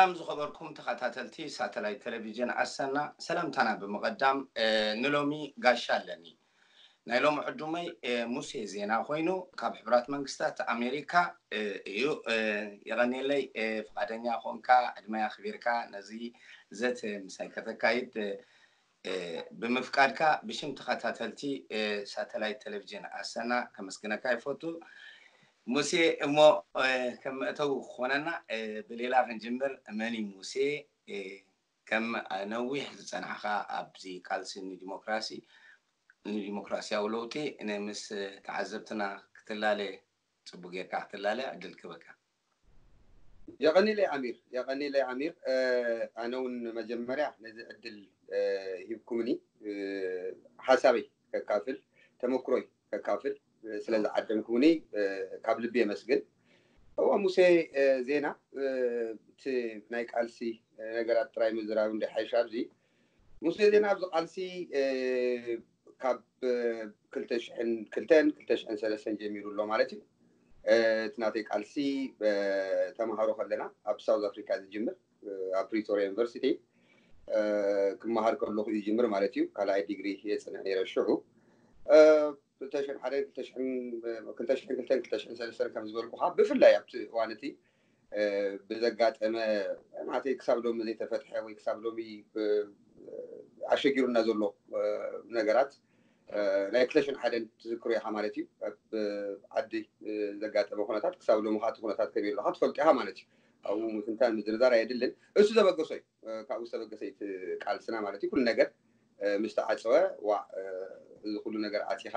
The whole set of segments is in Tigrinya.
ሰላም ዝኸበርኩም ተኸታተልቲ ሳተላይት ቴሌቪዥን ኣሰና፣ ሰላምታና ብምቕዳም፣ እ፣ ንሎሚ ጋሻ ኣለኒ። ናይ ሎሚ ዕዱመይ፣ እ፣ ሙሴ ዜና ኮይኑ፣ ካብ ሕቡራት መንግስታት ኣሜሪካ፣ እ፣ እዩ። እ፣ የቐንየለይ፣ እ፣ ፍቓደኛ ኮንካ፣ ዕድመይ ኣኽቢርካ ነዚ ዘተ ምሳይ ከተካይድ፣ እ፣ እ፣ ብምፍቃድካ ብሽም ተኸታተልቲ፣ እ፣ ሳተላይት ቴሌቪዥን ኣሰና ከመስግነካ ይፈቱ። ሙሴ፣ እሞ፣ እ፣ ከም መእተዊ ክኾነና፣ እ፣ ብሌላ ክንጅምር። መን እዩ ሙሴ? እ፣ ከም ነዊሕ ዝጸናሕካ ኣብዚ ቃልሲ ንዲሞክራሲ፣ ንዲሞክራሲያዊ ለውጢ፣ ን-፣ ምስ ተዓዘብትና ክትላለ፣ ጽቡቅ ጌርካ ክትላለ ዕድል ክበካ። የቐኒለይ ኣሚር፣ የቐኒለይ ኣሚር። እ፣ ኣነ እውን መጀመርያ ነዚ ዕድል፣ እ፣ ሂብኩምኒ፣ እ፣ ሓሳበይ ከካፍል፣ ተመክሮይ ከካፍል፣ እ፣ ስለ ዝዓደምኩምኒ፣ እ፣ ካብ ልቢ የመስግን። እዋ ሙሴ፣ እ፣ ዜና፣ እ፣ እቲ ናይ ቃልሲ፣ እ፣ ነገራት ጥራይ ምዝራብ እንደ ሓይሽ ኣብዚ። ሙሴ ዜና ኣብዚ ቃልሲ፣ እ፣ ካብ፣ እ፣ ክልተ ሽሕን ክልተን ክልተ ሽሕን ሰለስተን ጀሚሩ ኣሎ ማለት እዩ። እ፣ እቲ ናተይ ቃልሲ፣ እ፣ ተምሃሮ ከለና ኣብ ሳውዝ ኣፍሪካ ዝጅምር፣ እ፣ ኣብ ፕሪቶሪያ ዩኒቨርሲቲ፣ እ፣ ክመሃር ከለኹ እዩ ዝጅምር ማለት እዩ። ካልኣይ ዲግሪ የጽንዕ ነይረ ሽዑ። እ፣ ክልተ ሽሕን ሓደን፣ ክልተ ሽሕን፣ ክልተ ሽሕን ክልተን፣ ክልተ ሽሕን ሰለስተን ከም ዝበልኩኻ፣ ብፍላይ ኣብቲ እዋን እቲ፣ እ፣ ብዘጋጠመ፣ ናተይ ክሳብ ሎሚ ዘይተፈትሐ ወይ ክሳብ ሎሚ፣ እ፣ ኣሸጊሩና ዘሎ፣ እ፣ ነገራት፣ እ፣ ናይ ክልተ ሽሕን ሓደን ትዝክሮ ኢኻ ማለት እዩ። ኣብ ዓዲ፣ እ፣ ዘጋጠመ ኩነታት ክሳብ ሎሚ ከዓ እቲ ኩነታት ከመይ ኣለካ ትፈልጦ ኢኻ ማለት እዩ። ኣብኡ ምትንታን ምዝርዛር ኣየድልን። እሱ ዘበገሶ እዩ። እ፣ ካብኡ ዝተበገሰ እዩ እቲ ቃልስና ማለት እዩ። ኩሉ ነገር፣ እ፣ ምስ ተዓጸወ፣ ዋዕ፣ እ፣ እዚ ኩሉ ነገር ዓጺኻ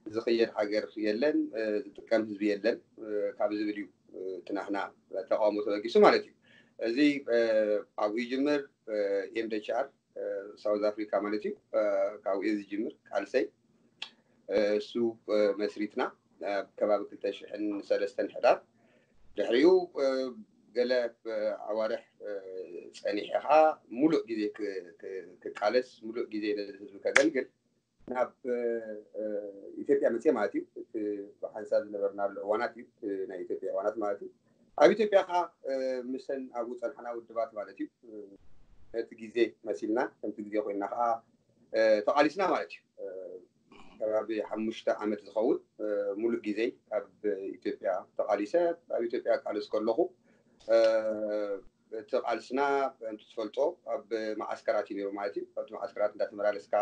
ዝኽየድ ሃገር የለን፣ እ፣ ዝጥቀም ህዝቢ የለን፣ እ፣ ካብ ዝብል እዩ፣ እ፣ እቲ ናህና ተቃውሞ ተበጊሱ ማለት እዩ። እዚ፣ እ፣ ኣብኡ ይጅምር፣ እ፣ ኤምደችኣር፣ እ፣ ሳውዝ ኣፍሪካ ማለት እዩ። እ፣ ካብኡ እዩ ዝጅምር ቃልሰይ። እ፣ እሱ፣ እ፣ መስሪትና ኣብ ከባቢ ክልተ ሽሕን ሰለስተን ሕዳር። ድሕሪኡ፣ እ፣ ገለ፣ እ፣ ኣዋርሕ፣ እ፣ ጸኒሐ ኸኣ ሙሉእ ግዜ ክ-፣ ክ-፣ ክቃለስ፣ ሙሉእ ግዜ ነዚ ህዝቢ ከገልግል ናብ፣ እ፣ እ፣ ኢትዮጵያ መጽየ ማለት እዩ። እቲ ብሓንሳብ ዝነበርናሉ እዋናት እዩ፣ እቲ ናይ ኢትዮጵያ እዋናት ማለት እዩ። ኣብ ኢትዮጵያ ኸኣ፣ እ፣ ምሰን ኣብኡ ጸንሕና ውድባት ማለት እዩ። እ፣ ነቲ ግዜ መሲልና፣ ከምቲ ግዜ ኮይንና ኸኣ፣ እ፣ ተቓሊስና ማለት እዩ። እ፣ ከባቢ ሓሙሽተ ዓመት ዝኸውን፣ እ፣ ሙሉእ ግዜይ ኣብ ኢትዮጵያ ተቓሊሰ። ኣብ ኢትዮጵያ ቃልስ ከለኹ፣ እ፣ እቲ ቃልስና ከምቲ ትፈልጦ ኣብ መዓስከራት እዩ ነይሩ ማለት እዩ። ኣብቲ መዓስከራት እንዳተመላለስካ፣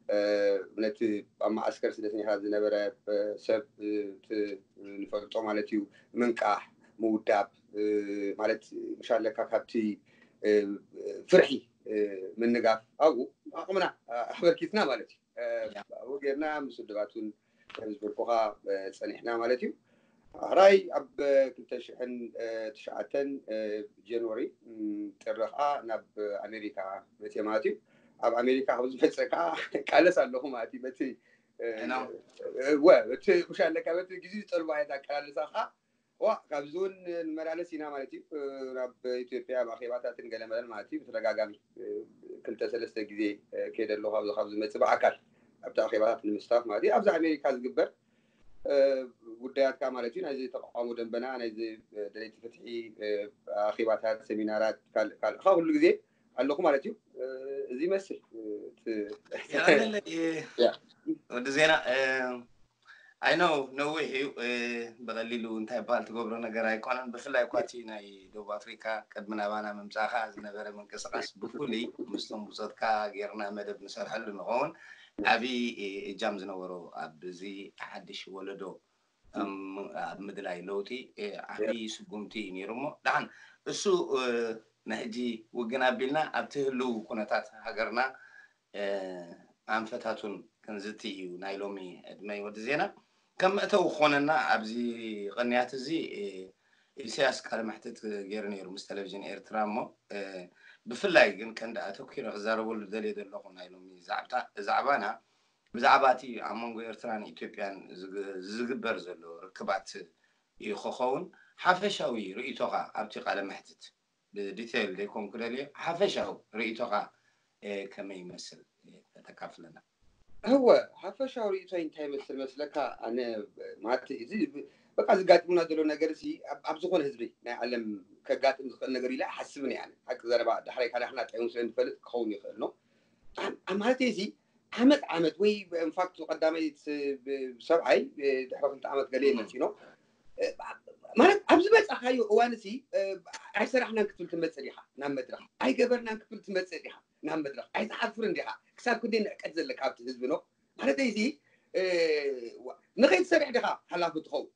እ፣ ነቲ ኣብ መዓስከር ስደተኛታት ዝነበረ፣ እ፣ ሰብ፣ እ፣ እቲ ንፈልጦ ማለት እዩ ምንቃሕ፣ ምውዳብ፣ እ፣ ማለት ምሻለካ ካብቲ፣ እ፣ ፍርሒ፣ እ፣ ምንጋፍ ኣብኡ ዓቕምና ኣበርኪትና ማለት እዩ። እ፣ ያ። ኣብኡ ጌርና ምስ ውድባት እውን ከም ዝበልኩኻ፣ እ፣ ጸኒሕና ማለት እዩ። ሕራይ ኣብ ክልተ ሽሕን ትሽዓተን፣ እ፣ ጀንዋሪ፣ እም፣ ጥሪ ኸኣ ናብ ኣሜሪካ መጽየ ማለት እዩ። ኣብ ኣሜሪካ ካብ ዝመጸ ከኣ ቃለስ ኣለኹ ማለት እዩ። በቲ፣ እ፣ እና? እ፣ ወ-፣ እቲ ምሻለካ በቲ ግዜ ዝጠልቦ ዓይነት ኣቀላልሳ ኸኣ፣ ዋ፣ ካብዚ እውን ንመላለስ ኢና ማለት እዩ። እ፣ ናብ ኢትዮጵያ ኣብ ኣኼባታትን ገለመለን ማለት እዩ። ብተደጋጋሚ፣ እ፣ ክልተ ሰለስተ ግዜ፣ እ፣ ከይደ ኣለኹ ካብዚ፣ ካብ ዝመጽእ ብኣካል ኣብቲ ኣኼባታት ንምስታፍ ማለት እዩ። ኣብዚ ኣሜሪካ ዝግበር፣ እ፣ ጉዳያትካ ማለት እዩ። ናይዚ ተቃውሞ ደንበና፣ ናይዚ፣ እ፣ ደለይቲ ፍትሒ፣ እ፣ ኣኼባታት፣ ሰሚናራት፣ ካልእ፣ ካልእ፣ ካብ ኩሉ ግዜ ኣለኹ ማለት እዩ። እ፣ እዚ ይመስል፣ እ፣ እቲ የቐንየለይ፣ እ፣ ያ። ወዲ ዜና፣ እ፣ I know ነዊሕ እዩ፣ እ፣ ብቐሊሉ እንታይ ይበሃል ትገብሮ ነገር ኣይኮነን። ብፍላይ እኳ እቲ ናይ ደቡብ ኣፍሪካ ቅድሚ ናባና ምምጻእካ ዝነበረ ምንቅስቃስ ብፍሉይ ምስቶም ብጾትካ ጌርና መደብ ንሰርሐሉ ንኸውን ዓቢ፣ እ፣ እጃም ዝነበሮ ኣብዚ ሓድሽ ወለዶ ኣብ ም-፣ ኣብ ምድላይ ለውጢ፣ እ፣ ዓቢ ስጉምቲ እዩ ነይሩ። እሞ ደሓን እሱ፣ እ፣ ንሕጂ ውግን ኣቢልና ኣብቲ ህልው ኩነታት ሃገርና፣ እ፣ ኣንፈታቱን ክንዝቲ እዩ ናይ ሎሚ ዕድመይ ወዲ ዜና። ከም መእተዊ ክኾነና ኣብዚ ቅንያት እዚ፣ እ፣ ኢሳያስ ቃለ መሕትት ገይሩ ነይሩ ምስ ቴሌቪዥን ኤርትራ። እሞ፣ እ፣ ብፍላይ ግን ቀንዲ ኣተኲረ ክዛረበሉ ደልየ ዘለኹ ናይ ሎሚ ዛዕብታ-፣ ዛዕባና ብዛዕባ እቲ ኣብ መንጎ ኤርትራን ኢትዮጵያን ዝግ-፣ ዝግበር ዘሎ ርክባት እዩ ክኸውን። ሓፈሻዊ ርእይቶኻ ኣብቲ ቃለ መሕትት ብዲቴይል ዘይኮንኩ ደልየ፣ ሓፈሻዊ ርእይቶኻ፣ እ፣ ከመይ ይመስል፣ እ፣ ከተካፍለና? እወ፣ ሓፈሻዊ ርእይቶይ እንታይ ይመስል መስለካ? ኣነ ማለት እዚ ብ-፣ በቃ ዘጋጥሙና ዘሎ ነገር ሲ ኣብ ዝኾነ ህዝቢ ናይ ዓለም ከጋጥም ዝኽእል ነገር ኢለ ኣይሓስብን እየ። ሓቂ ዘረባ ዳሕራይ ካዳሕና ጥዑም ስለ ንፈልጥ ክኸውን ይኽእል ነው። ማለት እዚ ዓመት ዓመት ወይ ኢንፋክት ቀዳማይ ሰብዓይ ድሕሪ ክልተ ዓመት ገለ ይመፅእ ነው። ማለት ኣብ ዝበፃኻዮ እዋን ሲ ኣይሰራሕናን ክትብል ትመፅእ ዲኻ ናብ መድረኽ፣ ኣይገበርናን ክትብል ትመፅእ ዲኻ ናብ መድረኽ፣ ኣይትሓፍርን ዲኻ? ክሳብ ክንደይ ንዕቀት ዘለካ ኣብቲ ህዝቢ ነው ማለት እዚ ንኸይትሰርሕ ዲኻ ሓላፊ ትኸውን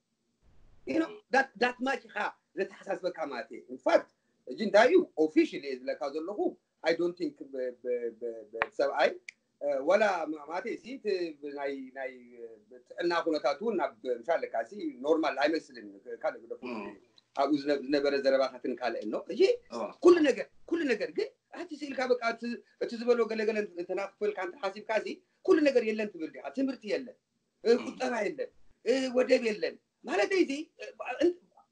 ዳት ማች ኢኻ ዘተሓሳስበካ ማለት እዩ። ኢንፋክት እጂ እንታይ እዩ ኦፊሽሊ እየ ዝብለካ ዘለኹ። I don't think ሰብኣይ ወላ ማለት እዚ ናይ ጥዕና ኩነታት እውን ናብ ምሻለካ ሲ ኖርማል ኣይመስልን። ካልእ ግደፉ ኣብኡ ዝነበረ ዘረባታትን ካልእን ነው። እሺ ኩሉ ነገር ኩሉ ነገር ግን ኣቲ ስኢልካ በቃ እቲ ዝበሎ ገለገለ እንተናክፈልካ እንተሓሲብካ ሲ ኩሉ ነገር የለን ትብል ዲኻ? ትምህርቲ የለን፣ ቁጠባ የለን፣ ወደብ የለን ማለት እዚ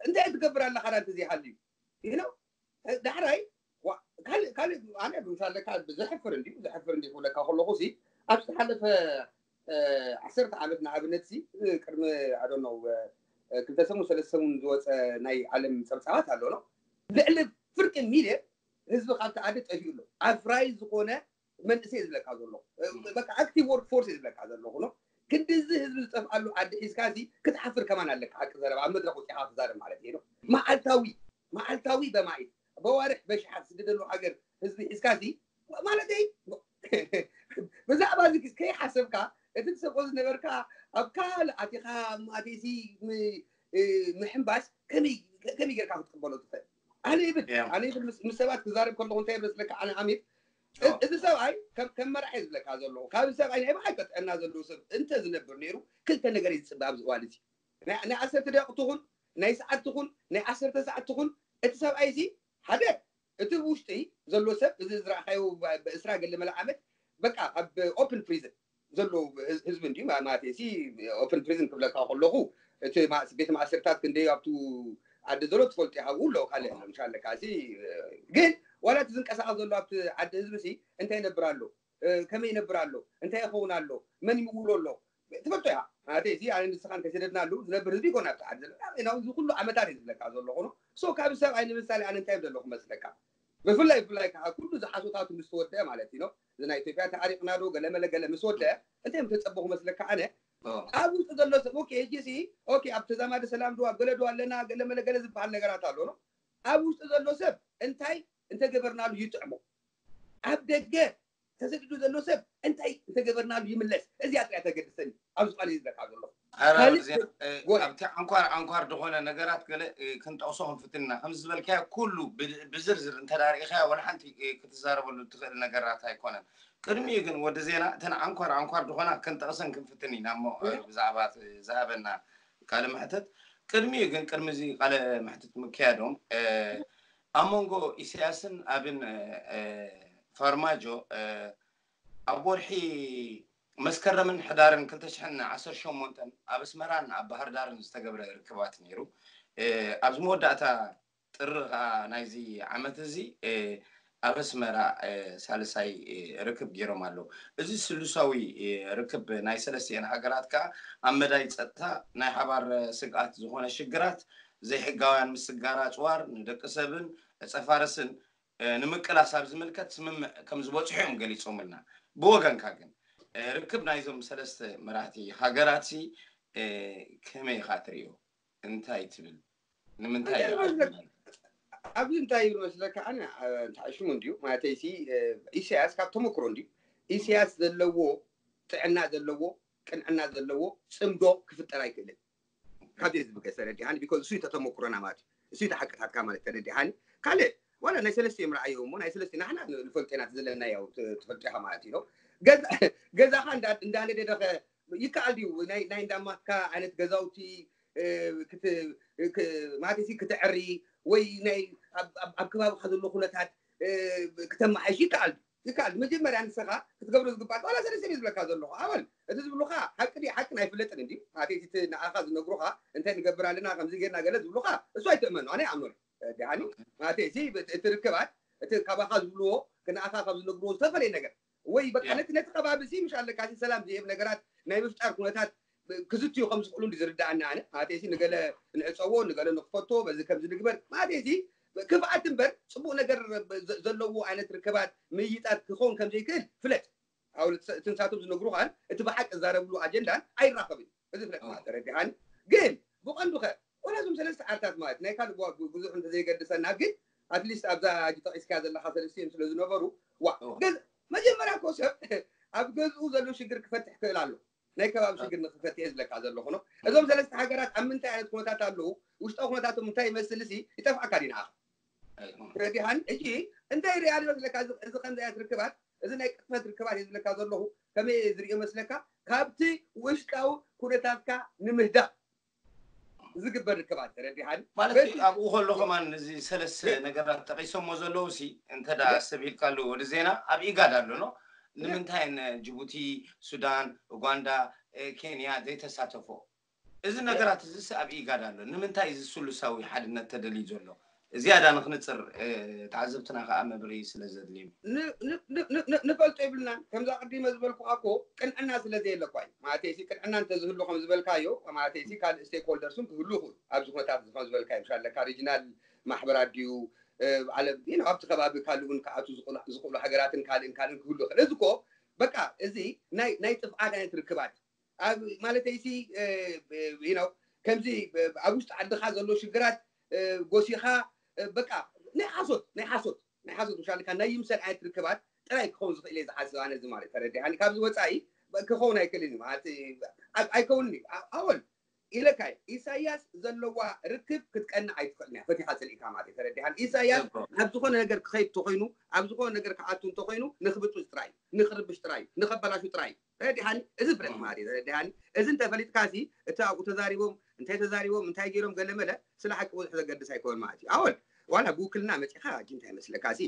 እንታይ ትገብር ኣለኻ? ዳ እንተዘይሃልዩ you know ዳሕራይ ካልእ ካልእ ኣነ ምሳለካ ዘሕፍር እንዲዩ ዘሕፍር እንዲ ክብለካ ከለኹ ሲ ኣብ ዝተሓለፈ ዓሰርተ ዓመት ንኣብነት ሲ ቅድሚ ኣዶነው ክልተ ሰሙን ሰለስተ ሰሙን ዝወፀ ናይ ዓለም ፀብፃባት ኣሎ ነው ልዕሊ ፍርቂ ሚልዮን ህዝቢ ካብቲ ዓዲ ጠፊኡ ኣሎ። ኣፍራይ ዝኾነ መንእሰይ ዝብለካ ዘሎ በቃ ኣክቲቭ ወርክ ፎርስ ዝብለካ ዘለኹ ነው። ክንዲ እዚ ህዝቢ ዝጠፍኣሉ ዓዲ ሒዝካ እዚ ክትሓፍር ከማን ኣለካ። ሓቂ ዘረባ ኣብ መድረክ ወፂኻ ክዛረብ ማለት እዩ ነው። መዓልታዊ መዓልታዊ በማኢት በዋርሕ በሽሓት ዝስደደሉ ሃገር ህዝቢ ሒዝካ እዚ ማለተይ ብዛዕባ እዚ ከይሓሰብካ እቲ ትሰብኮ ዝነበርካ ኣብ ካልእ ኣቲኻ ማቴሲ ምሕንባስ ከመይ ጌርካ ክትቅበሎ ትኽእል? ኣነ ይብል ኣነ ይብል ምስ ሰባት ክዛረብ ከለኹ እንታይ መስለካ ኣነ ኣሚር እዚ ሰብኣይ ከም መራሒ ዝብለካ ዘለኹ ካብ ሰብኣይ ናይ ብሓቂ ጥዕና ዘለዎ ሰብ እንተ ዝነብር ነይሩ ክልተ ነገር እዩ ዝፅበ ኣብዚ እዋን እዚ ናይ ዓሰርተ ደቂቕ ትኹን ናይ ሰዓት ትኹን ናይ ዓሰርተ ሰዓት ትኹን እቲ ሰብኣይ እዚ ሓደ እቲ ውሽጢ ዘሎ ሰብ እዚ ዝረኣኻዮ ብእስራ ገለ መለ ዓመት በቃ ኣብ ኦፕን ፕሪዝን ዘሎ ህዝቢ እንዲ ማለት ሲ ኦፕን ፕሪዝን ክብለካ ከለኹ እቲ ቤት ማእሰርታት ክንደይ ኣብቱ ዓዲ ዘሎ ትፈልጡ ይሃብኡ ኣሎ ካልእ ኣሎ ምሻለካ ሲ ግን ዋላ እቲ ዝንቀሳቐስ ዘሎ ኣብቲ ዓዲ ህዝቢ ሲ እንታይ ይነብር ኣሎ ከመይ ይነብር ኣሎ እንታይ ይኸውን ኣሎ መን ይምውሎ ኣሎ ትፈልጦ ኢኻ ማለት እዚ ኣነ ንስኻ እንተይሰደድናሉ ዝነብር ህዝቢ ይኮን ኣብቲ ዓዲ ዘሎ እዚ ኩሉ ዓመታት እዩ ዝብለካ ዘሎ ኾኖ ሶ ካብ ሰብኣይ ንምሳሌ ኣነ እንታይ ዘለኹ መስለካ ብፍላይ ብፍላይ ከዓ ኩሉ ዝሓሶታቱ ምስ ተወደአ ማለት እዩ እዚ ናይ ኢትዮጵያ ተዓሪቕና ዶ ገለመለ ገለ ምስ ወደአ እንታይ ምተፀበኹ መስለካ ኣነ ኣብ ውስጡ ዘሎ ሰብ ኦኬ ሕጂ ሲ ኦኬ ኣብ ተዛማዲ ሰላም ዶ ኣብ ገለ ዶ ኣለና ገለመለ ገለ ዝበሃል ነገራት ኣሎ ነው ኣብ ውስጡ ዘሎ ሰብ እንታይ እንተገበርናሉ ይጥዕሞ ኣብ ደገ ተሰዲዱ ዘሎ ሰብ እንታይ እንተገበርናሉ ይምለስ እዚኣ ጥራይ ተገድሰኒ ኣብ ዝኾነ ይዝለካ ዘሎ ኣብቲ ዓንኳር ዓንኳር ዝኾነ ነገራት ገለ ክንጠቕሶ ክንፍትን ኢና ከምዚ ዝበልካዮ ኩሉ ብዝርዝር እንተዳርኢኻዮ ወላ ሓንቲ ክትዛረበሉ ትኽእል ነገራት ኣይኮነን ቅድሚኡ ግን ወዲ ዜና እተን ዓንኳር ዓንኳር ዝኾና ክንጠቕሰን ክንፍትን ኢና እሞ ብዛዕባ ዝሃበና ቃለ መሕተት ቅድሚኡ ግን ቅድሚ እዚ ቃለ መሕተት ምክያዶም ኣብ መንጎ ኢሳያስን ኣብን ፋርማጆ ኣብ ወርሒ መስከረምን ሕዳርን ክልተ ሽሕን ዓሰርተ ሸሞንተን ኣብ ኣስመራን ኣብ ባህር ዳርን ዝተገብረ ርክባት ነይሩ። ኣብዚ መወዳእታ ጥሪ ከዓ ናይዚ ዓመት እዚ ኣብ ኣስመራ ሳልሳይ ርክብ ገይሮም ኣለዉ። እዚ ስሉሳዊ ርክብ ናይ ሰለስቲኤን ሃገራት ከዓ ኣብ መዳይ ፀጥታ ናይ ሓባር ስግኣት ዝኾነ ሽግራት ዘይሕጋውያን ምስግጋር ኣፅዋር ንደቂ ሰብን ዕፀ ፋርስን ንምቅላስ ኣብ ዝምልከት ስምምዕ ከም ዝበፅሑ እዮም ገሊፆምልና። ብወገንካ ግን ርክብ ናይዞም ሰለስተ መራሕቲ ሃገራት ሲ ከመይ ኢኻ ትርእዮ? እንታይ ትብል? ንምንታይ ኣብዚ እንታይ ይብል መስለካ? ኣነ እንታይ ሽሙ እንድዩ ማለተይ ሲ ኢሳያስ ካብ ተመክሮ እንድዩ ኢሳያስ ዘለዎ ጥዕና ዘለዎ ቅንዕና ዘለዎ ፅምዶ ክፍጠር ኣይክእልን። ካብዚ ህዝቢ ገ ተረዲሃኒ ቢኮዝ እሱ ተተመኩሮና ማለት እዩ። እሱ ተሓቅታትካ ማለት ተረዲሃኒ ካልእ ዋላ ናይ ሰለስቲኦም ረኣዮ እሞ ናይ ሰለስቲ ናሕና ንፈልጦ ኢና ዘለና ያው ትፈልጦ ኢኻ ማለት እዩ። ገዛኻ እንዳነደደኸ ይከኣል ድዩ ናይ እንዳማትካ ዓይነት ገዛውቲ ማለት ክትዕሪ ወይ ናይ ኣብ ከባቢካ ዘሎ ኩነታት ክተመሓይሽ ይከኣል ድዩ? ይከኣል መጀመርያ ንስኻ ክትገብሮ ዝግባእ ዋላ ሰለስተ ዝብለካ ዘለኹ ኣበል እቲ ዝብሉኻ ሓቂ ድዩ ሓቂ ኣይፍለጥን እንዲ ማለት እቲ ንዓኻ ዝነግሩኻ እንታይ ንገብር ኣለና ከምዚ ጌርና ገለ ዝብሉኻ እሱ ኣይትእመኑ ኣነ ኣይኣምኖን ዲሓኒ ማለት እዚ እቲ ርክባት እቲ ካባኻ ዝብልዎ ንዓኻ ካብ ዝነግርዎ ዝተፈለየ ነገር ወይ በቃ ነቲ ነቲ ከባቢ እዚ ምሽ ኣለካ እዚ ሰላም ዝህብ ነገራት ናይ ምፍጣር ኩነታት ክዝትዩ ከም ዝኽእሉ እንዲ ዝርዳእና ኣነ። ማለተይሲ ንገለ ንዕፀዎ፣ ንገለ ንክፈቶ፣ በዚ ከምዚ ንግበር። ማለተይሲ ክፍኣት እምበር ፅቡቕ ነገር ዘ-፣ ዘለዎ ዓይነት ርክባት ምይይጣት ክኸውን ከም ዘይክእል ፍለጥ። ኣብ እቲ ንሳቶም ዝነግሩኻን እቲ ብሓቂ ዝዛረብሉ ኣጀንዳን ኣይራኸብን እዩ። እዚ ፍለጥ ማለት ተረዲኻኒ። ግን ብቐንዱ ኸ ዋላ እዞም ሰለስተ ዓርታት ማለት ናይ ካልእ ጓ-፣ ብዙሕ እንተዘይገድሰና ግን ኣትሊስት ኣብዛ ሕጂ ጠቒስካ ዘለኻ ሰለስቲኦም ስለ ዝነበሩ ዋ እዋ። ገዝ-፣ መጀመርያ እኮ ሰብ ኣብ ገዝኡ ዘሎ ሽግር ክፈትሕ ክእል ኣሎ። ናይ ከባቢ ሽግር ንክፈትሕ እየ ዝብለካ ዘለኹ ነው። እዞም ሰለስተ ሃገራት ኣብ ምንታይ ዓይነት ኩነታት ኣለዉ፣ ውሽጣዊ ኩነታቶም እንታይ ይመስል ሲ ይጠፍኣካ ዲ ንዓኻ። ተረዲኻኒ? ሕጂ እንታይ ሪኣ ዶ ዝለካ እዚ፣ እዚ ከምዚ ዓይነት ርክባት፣ እዚ ናይ ቅጥፈት ርክባት እየ ዝብለካ ዘለኹ። ከመይ እየ ዝሪኦ መስለካ? ካብቲ ውሽጣዊ ኩነታትካ ንምህዳእ ዝግበር ርክባት ተረዲኻኒ? ማለት በዚ ኣብኡ ከሎ ከማን እዚ ሰለስተ ግን ነገራት ጠቂሶሞ ዘለዉ ሲ እንተ ደኣ ግን ሰብ ኢልካሉ ወዲ ዜና ኣብ ኢጋድ ኣሎ ነው። ግን ንምንታይ ን ጅቡቲ፣ ሱዳን፣ ኡጋንዳ፣ እ፣ ኬንያ ዘይተሳተፎ? እዚ እ፣ ነገራት እዚ ሲ ኣብ ኢጋድ ኣሎ። ንምንታይ እዚ ስሉሳዊ ሓድነት ተደልዩ ዘሎ? ዝያዳ ንክንጽር፣ እ፣ ተዓዘብትና ከኣ መብርሂ ስለ ዘድልዮም። ን-፣ ን-፣ ን-፣ ን-፣ ን-፣ ንፈልጦ ይብልናን። ከምዛ ቅዲመ ዝበልኩኻ እኮ ቅንዕና ስለ ዘየለ እኳ እዩ። ማለተይሲ ቅንዕና እንተዝህሉ ከም ዝበልካዮ፣ ማለተይሲ ካልእ ስቴክሆልደርስን ክህሉ ይኽእሉ። ኣብዚ ኩነታት እዚ ከም ዝበልካዮ፣ ምሻ ኣለካ ሪጅናል ማሕበራት ድዩ፣ እ፣ ዓለም፣ you know፣ ኣብቲ ከባቢ ካልእ እውን ክኣቱ ዝኽእሉ፣ ዝኽእሉ ሃገራትን ካልእን ካልእን ክህሉ ይኽእል። እዚ እኮ በቃ እዚ ናይ፣ ናይ ጥፍኣት ዓይነት ርክባት ኣብ፣ ማለተይሲ፣ እ፣ እ፣ you know፣ ከምዚ፣ እ፣ ኣብ ውሽጢ ዓድኻ ዘሎ ሽግራት፣ እ፣ ጎሲኻ፣ እ፣ በቃ ናይ ሓሶት፣ ናይ ሓሶት፣ ናይ ሓሶት ምሻልካ ናይ ይምሰል ዓይነት ርክባት ጥራይ ክኸውን ዝኽእል እየ ዝሓስብ ኣነ እዚ ማለት ተረዲኻኒ። ካብዚ ወጻኢ ክኸውን ኣይክእልን እዩ ማለት፣ እ፣ ኣይ-፣ ኣይከውንን እዩ። ኣ-፣ ኣወል ኢለካ እየ። ኢሳያስ ዘለዋ ርክብ ክትቀንዕ ኣይትኽእልን እያ፣ ፈቲኻ ጽሊእካ ማለት እዩ። ተረዲኻኒ? ኢሳያስ እኮ። ናብ ዝኾነ ነገር ክኸይድ እንተኾይኑ፣ ኣብ ዝኾነ ነገር ክኣቱ እንተኾይኑ፣ ንኽብጥብጥ ጥራይ እዩ፣ ንኽርብሽ ጥራይ እዩ፣ ንኸበላሹ ጥራይ እዩ። ተረዲኻኒ? እዚ ፍለጥ እም። ማለት እዩ። ተረዲኻኒ? እዚ እንተፈሊጥካ ሲ፣ እቲ ኣብኡ ተዛሪቦም፣ እንታይ ተዛሪቦም፣ እንታይ ገይሮም፣ ገለ መለ፣ ስለ ሓቂ ብዙሕ ዘገድስ ኣይኮን ማለት እዩ። ኣወል፣ ዋላ ብውክልና መጺኻ፣ ሕጂ እንታይ መስለካ ሲ፣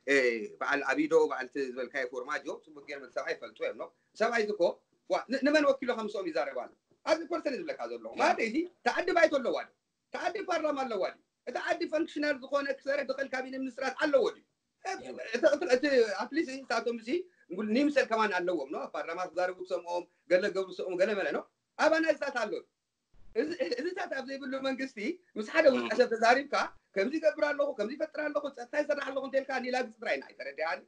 እ፣ በዓል ኣቢዶ፣ በዓል እቲ ዝበልካዮ ፎርማጆ፣ ጽቡቅ ገይሮም እቲ ሰብኣይ ይፈልጡ እዮም፣ ኖ? ሰብኣይ እዚ እኮ፣ ዋ፣ ን-፣ ንመን ወኪሎ ከም ምስኦም ይዛረብ ኣሎ? ኣብዚ ፐርሰን ዝብለካ ዘለኹ። ያ። ማለት እዚ፣ ተዓዲ ባይቶ ኣለዋ ዶ? ተዓዲ ፓርላማ ኣለዋ ድዩ? እቲ ዓዲ ፈንክሽናል ዝኾነ ክሰርሕ ዝኽእል ካቢነ ሚኒስትራት ኣለዎ ድዩ? እ-፣ ያ። እቲ፣ እቲ፣ እቲ፣ ኣትሊስት ንሳቶም እዚ ንይምሰል ከማን ኣለዎም፣ ኖ? ኣብ ፓርላማ ክዛረቡ ትሰምኦም፣ ገለ ገብሩ ትሰምኦም፣ ገለ መለ፣ ኖ? ኣባና እዚታት ኣሎ። እዚ፣ እዚታት ኣብ ዘይብሉ መንግስቲ፣ ምስ ሓደ ውልቀ እም። ሰብ ተዛሪብካ፣ ከምዚ ይገብር ኣለኹ፣ ከምዚ ይፈጥር ኣለኹ፣ ጸጥታ ይሰርሕ ኣለኹ እንተልካ፣ ኒላግጽ ጥራይ ኢና፣ ኣይተረድኣኒ።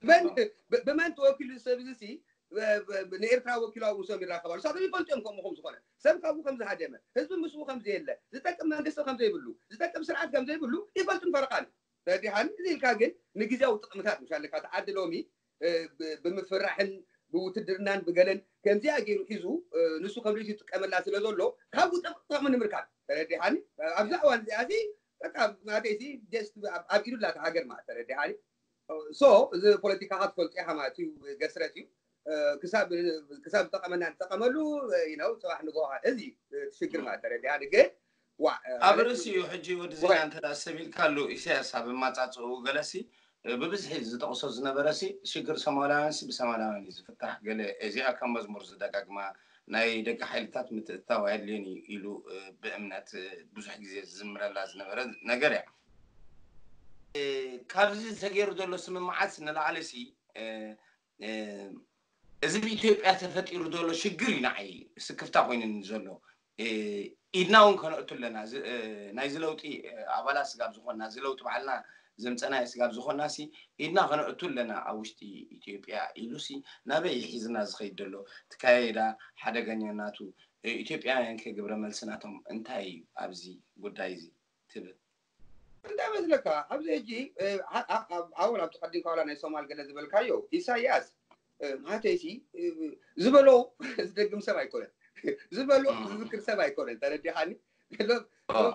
መን፣ እም። ብ-፣ ብመን ተወኪሉ ሰብ እዚ ሲ፣ ብ-፣ ብ-፣ ብ-፣ ንኤርትራ ወኪሉ ኣብኡ ሰም ይራኸብ ኣሎ። ንሳቶም ይፈልጡ እዮም ከምኡ ከም ዝኾነ። ሰብ ካብኡ ከም ዝሃደመ፣ ህዝቢ ምስኡ ከም ዘየለ፣ ዝጠቅም መንግስቲ ከም ዘይብሉ፣ ዝጠቅም ስርዓት ከም ዘይብሉ ይፈልጡን ፈረቓን። ተረዲኻኒ? እዚ ኢልካ ግን ንግዜያዊ ጥቕምታት፣ ምሻ ኣለካ፣ እቲ ዓዲ ሎሚ፣ እ፣ ብ-፣ ብምፍራሕን ብውትድርናን ብገለን ከምዚኣ ገይሩ ሒዙ፣ እ፣ ንሱ ከም ርእሱ ይጥቀመላ ስለ ዘሎ፣ ካብኡ ጥቕ-፣ ጥቕሚ ንምርካብ። ተረዲኻኒ? ኣብዛ እዋን እዚኣ ሲ፣ በቃ፣ ማለተይ ሲ፣ just ኣብ፣ ኣብ ኢዱ ኣላ እታ ሃገር ማለት፣ ተረዲኻኒ? So፣ እዚ ፖለቲካኻ ትፈልጦ ኢኻ ማለት እዩ፣ ገስረጥ እዩ። እ፣ ክሳብ፣ ክሳብ ዝጠቐመና ንጠቐመሉ፣ እ፣ you know፣ ጽባሕ ንግሆ፣ እዚ እዩ፣ እ፣ እቲ ሽግር ማለት፣ ተረዲኻኒ? ግን፣ ዋ፣ እ፣ ኣብ ማለት ርእሲኡ ሕጂ ወዲ ዜና ወ- እንተ ደኣ ሰብ ኢልካሉ፣ ኢሳያስ ኣብ ኣመጻጽኡ ገለሲ፣ እ፣ ብብዝሒ ዝጠቕሶ ዝነበረሲ፣ ሽግር ሶማላውያንሲ ብሶማላውያን እዩ ዝፍታሕ፣ ገለ እዚኣ ከም መዝሙር ዝደጋግማ፣ ናይ ደቂ ሓይልታት ምትእትታው ኣየድልዮን እዩ ኢሉ፣ እ፣ ብእምነት፣ እ፣ ብዙሕ ግዜ ዝዝምረላ ዝነበረ ነገር እያ። እ፣ ካብዚ ተገይሩ ዘሎ ስምምዓት ንላዕሊ ሲ፣ እ፣ እ፣ እዚ ብኢትዮጵያ ተፈጢሩ ዘሎ ሽግር እዩ ንዓይ ስክፍታ ኮይኑኒ ዘሎ። እ፣ ኢድና እውን ከነእቱ ኣለና። እዚ፣ እ፣ ናይዚ ለውጢ፣ እ፣ ኣባላት ስጋብ ዝኾንና፣ እዚ ለውጢ ባዕልና ዘምፀናዮ ስጋብ ዝኾንና ሲ፣ ኢድና ከነእቱ ኣለና ኣብ ውሽጢ ኢትዮጵያ ኢሉ ሲ፣ ናበይ ሒዝና ዝኸይድ ዘሎ? እቲ ካይዳ ሓደገኛናቱ፣ እ፣ ኢትዮጵያውያን ከ ግብረ መልሲ ናቶም እንታይ እዩ ኣብዚ ጉዳይ እዚ ትብል? እንታይ መስለካ? ኣብዚ ሕጂ፣ እ፣ ኣ-፣ ኣ-፣ ኣ-፣ ኣወል ኣብቲ ቀዲምካ ዋላ ናይ ሶማል ገለ ዝበልካዮ፣ ኢሳያስ፣ እ፣ ማለተይሲ፣ እ፣ ዝበሎ ዝደግም ሰብ ኣይኮነን። ዝበሎ እም። ዝዝክር ሰብ ኣይኮነን። ተረዲኻኒ? ሎ-፣ ኦ። ሎ-፣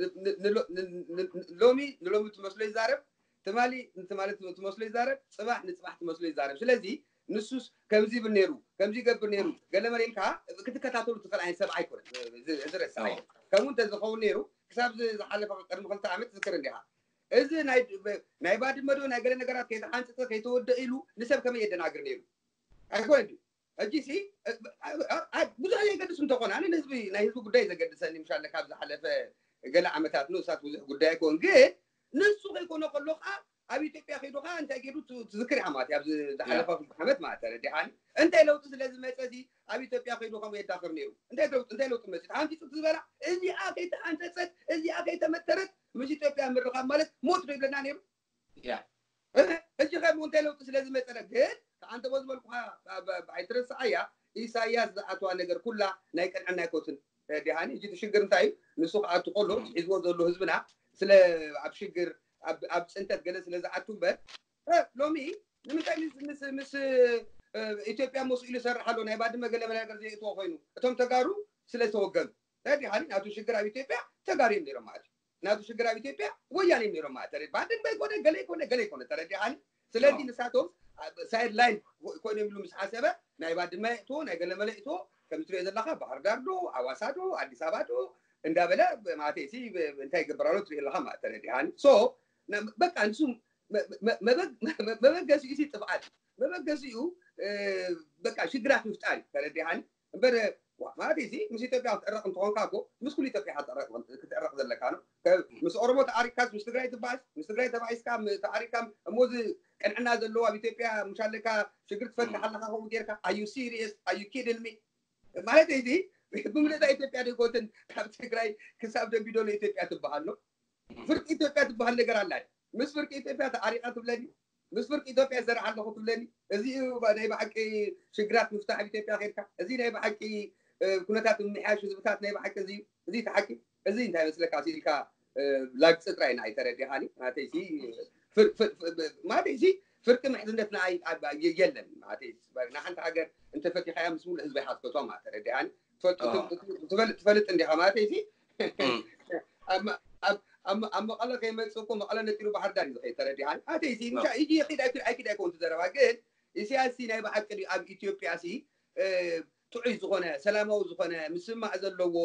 ን-፣ ን-፣ ን-፣ ን-፣ ን-፣ ሎሚ ንሎሚ ትመስሎ ይዛረብ፣ ትማሊ ንትማሊ ትመስሎ ይዛረብ፣ ጽባሕ ንጽባሕ ትመስሎ ይዛረብ። ስለዚ ንሱስ ከምዚ ይብል ነይሩ፣ ከምዚ ይገብር ነይሩ፣ ገለ መለ ኢልካ ክትከታተሉ ትኽእል ዓይነት ሰብ ኣይኮነን። እዚ፣ እዚ ረሳሕ ኦ። እዩ። ከምኡ እንተዝኸውን ነይሩ፣ ክሳብ ዝ-፣ ዝሓለፈ ቅድሚ ክልተ ዓመት ትዝክር እንዲኻ። እዚ ናይ፣ ናይ ባድመ ዶ ናይ ገለ ነገራት ከይተሓንጸጸ ከይተወደእ ኢሉ ንሰብ ከመይ የደናግር ነይሩ? ኣይኮነን ድዩ? ሕጂ ሲ፣ እ፣ እ፣ እ፣ ብዙሕ የገድስ እንተኾነ፣ ኣነ ንህዝቢ፣ ናይ ህዝቢ ጉዳይ ዘገድሰኒ፣ ምሻለ ካብ ዝሓለፈ ገለ ዓመታት ንኡሳት ብዙሕ ጉዳይ ኣይኮን። ግን ንሱ ከይኮነ ከሎ ኸዓ ኣብ ኢትዮጵያ ከይዱ ከዓ እንታይ ገይሩ ት- ትዝክር ኢኻ ማለት እዩ። ኣብዚ ዝሓለፈ ክልተ ዓመት ማለት ተረዲኻኒ። እንታይ ለውጢ ስለ ዝመፀ እዚ ኣብ ኢትዮጵያ ከይዱ ከምኡ የዳኽር ነይሩ? እንታይ ለውጢ እንታይ ለውጢ መፂኡ? ሓንፂፁ ዝበላ እዚኣ ከይተሓንፀፀት እዚኣ ከይተመተረት ምስ ኢትዮጵያ ምርኻብ ማለት ሞት ዶ ይብለና ነይሩ? ያ እህ፣ ሕጂ ከም እንታይ ለውጢ ስለ ዝመፀለ ግን ከዓንተ ቦ ዝበልኩኻ ኣይትረስዓያ። ኢሳያስ ዝኣትዋ ነገር ኩላ ናይ ቅንዕና ኣይኮትን። ተረዲኻኒ? ሕጂ እቲ ሽግር እንታይ እዩ? ንሱ ክኣቱ ከሎ ሒዝዎ ዘሎ ህዝብና ስለ ኣብ ሽግር ኣብ ኣብ ፅንተት ገለ ስለ ዝኣቱ እምበር እ፣ ሎሚ ንምንታይ ምስ ምስ ምስ እ፣ ኢትዮጵያ መስ ኢሉ ይሰርሕ ኣሎ? ናይ ባድመ ገለ መለ ነገር ዘይእትዎ ኮይኑ እቶም ተጋሩ ስለ ዝተወገኑ። ተረዲኻኒ? ናቱ ሽግር ኣብ ኢትዮጵያ ተጋሩ እዮም ነይሮም ማለት እዩ። ናቱ ሽግር ኣብ ኢትዮጵያ ወያነ እዮም ነይሮም ማለት ተረዲ ባድመ ይኮነ ገለ ይኮነ ገለ ይኮነ። ተረዲኻኒ? ስለዚ ንሳቶም ሳይድ ላይን ኮይኖም ኢሉ ምስ ሓሰበ ናይ ባድመ ይእትዎ ናይ ገለመለ ይእትዎ ከም ትሪኦ ዘለካ ባህር ዳር ዶ ኣዋሳ ዶ ኣዲስ ኣበባ ዶ እንዳበለ ማለት ሲ እንታይ ይገብር ኣሎ ትሪኦ ኣለካ ማለት ተረዲኻኒ? ሶ በቃ ንሱ መበገሲኡ ሲ ጥፍኣት መበገሲኡ በቃ ሽግራት ምፍጣር እዩ። ተረዲኻኒ? እምበር ማለት እዚ ምስ ኢትዮጵያ ክትዕረቕ እንትኾንካ እኮ ምስ ኩሉ ኢትዮጵያ ክትዕረቕ ዘለካ ነው። ምስ ኦሮሞ ተዓሪቅካስ ምስ ትግራይ ትባእስ ምስ ትግራይ ተባኢስካ ተዓሪቅካ እሞ እዚ ቅንዕና ዘለዎ ኣብ ኢትዮጵያ ምሻለካ ሽግር ትፈትሕ ኣለካ ከምኡ ጌርካ ኣዩ ሲሪየስ ኣዩ ኪድን ሚ ማለት እዚ ብምልእታ ኢትዮጵያ ደይኮትን ካብ ትግራይ ክሳብ ደንቢዶሎ ኢትዮጵያ ትበሃል ነው። ፍርቂ ኢትዮጵያ ትበሃል ነገር ኣላ። ምስ ፍርቂ ኢትዮጵያ ተዓሪቃ ትብለኒ ምስ ፍርቂ ኢትዮጵያ ይሰርሕ ኣለኹ ትብለኒ። እዚ እዩ ናይ ብሓቂ ሽግራት ምፍታሕ ኣብ ኢትዮጵያ ከድካ እዚ ናይ ብሓቂ ኩነታት ምምሕያሽ ህዝብታት ናይ ብሓቂ እዚ እዩ። እዚ ተሓቂ እዚ እንታይ መስለካ ኢልካ ላግፂ ጥራይ ንዓይ ተረዲኻኒ። ማለተይ ማለተይ ፍርቂ ምሕዝነት ንዓይ የለን። ማለተይ ንሓንቲ ሃገር እንተፈቲኻያ ምስ ሙሉእ ህዝቢ ኢኻ ትፈትዋ ማለት ተረዲኻኒ። ትፈልጥ እንዲኻ ማለተይ ኣብ መቐለ ከይመፅእ እኮ መቐለ ነጢሩ ባህር ዳር እዩ ዝኸይድ ተረዲኻኒ። ማለተይ ኢጂ ይኺድ ኣይኪድ ኣይኮን ትዘረባ ግን ኢሳያስ ናይ ብሓቂ ኣብ ኢትዮጵያ ሲ ጥዑይ ዝኾነ ሰላማዊ ዝኾነ ምስማዕ ዘለዎ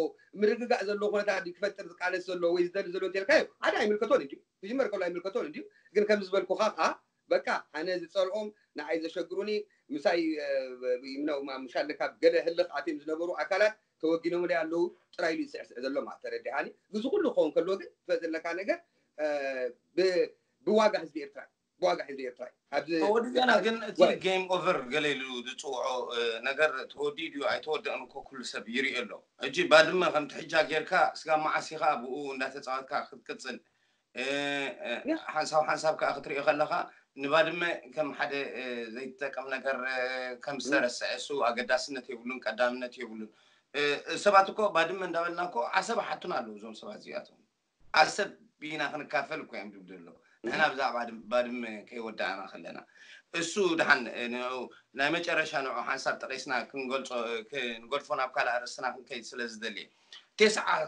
ምርግጋእ ዘለዎ ኩነታት ክፈጥር ዝቃለስ ዘሎ ወይ ዝደሊ ዘሎ እንተልካዮ ሓደ ኣይምልከቶን እንዲዩ ክጅመር ከሎ ኣይምልከቶን እንዲዩ ግን ከም ዝበልኩኻ ከዓ በቃ ኣነ ዝፀልኦም ንዓይ ዘሸግሩኒ ምሳይ ምሻለ ካብ ገለ ህልኽ ኣትዮም ዝነበሩ ኣካላት ተወጊኖምለይ ኣለዉ ጥራይ ኢሉ ዝስዕስዕ ዘሎ ማለት ተረዲኻኒ። እዚ ኩሉ ክኸውን ከሎ ግን ትፈጥ ዘለካ ነገር ብዋጋ ህዝቢ ኤርትራ ብዋጋ ህዝቢ ኤርትራ እዩ። ኣብዚ ተወዲእና ግን እቲ ጌም ኦቨር ገለ ኢሉ ዝፅውዖ ነገር ተወዲኡ ድዩ ኣይተወደእን እኮ ኩሉ ሰብ ይርኢ ኣሎ። ሕጂ ባድመ ከምቲ ሕጃ ጌርካ ስጋብ መዓስ ኢኻ ብኡ እንዳተፃወትካ ክትቅፅል ሓንሳብ ሓንሳብ ከዓ ክትሪኦ ከለካ ንባድመ ከም ሓደ ዘይትጠቀም ነገር ከም ዝተረስዐ እሱ ኣገዳስነት የብሉን ቀዳምነት የብሉን። ሰባት እኮ ባድመ እንዳበልና እኮ ዓሰብ ሓቱና ኣለዉ እዞም ሰባት እዚኣቶም ዓሰብ ቢና ክንካፈል እኮ እዮም ዝብሉ ዘለዉ። ንሕና ብዛዕባ ባድመ ከይወዳእና ከለና እሱ ድሓን ናይ መጨረሻ ንዑ ሓንሳብ ጠቂስና ክንገልፆ ክንገድፎ ናብ ካልእ ኣርእስትና ክንከይድ ስለ ዝደልየ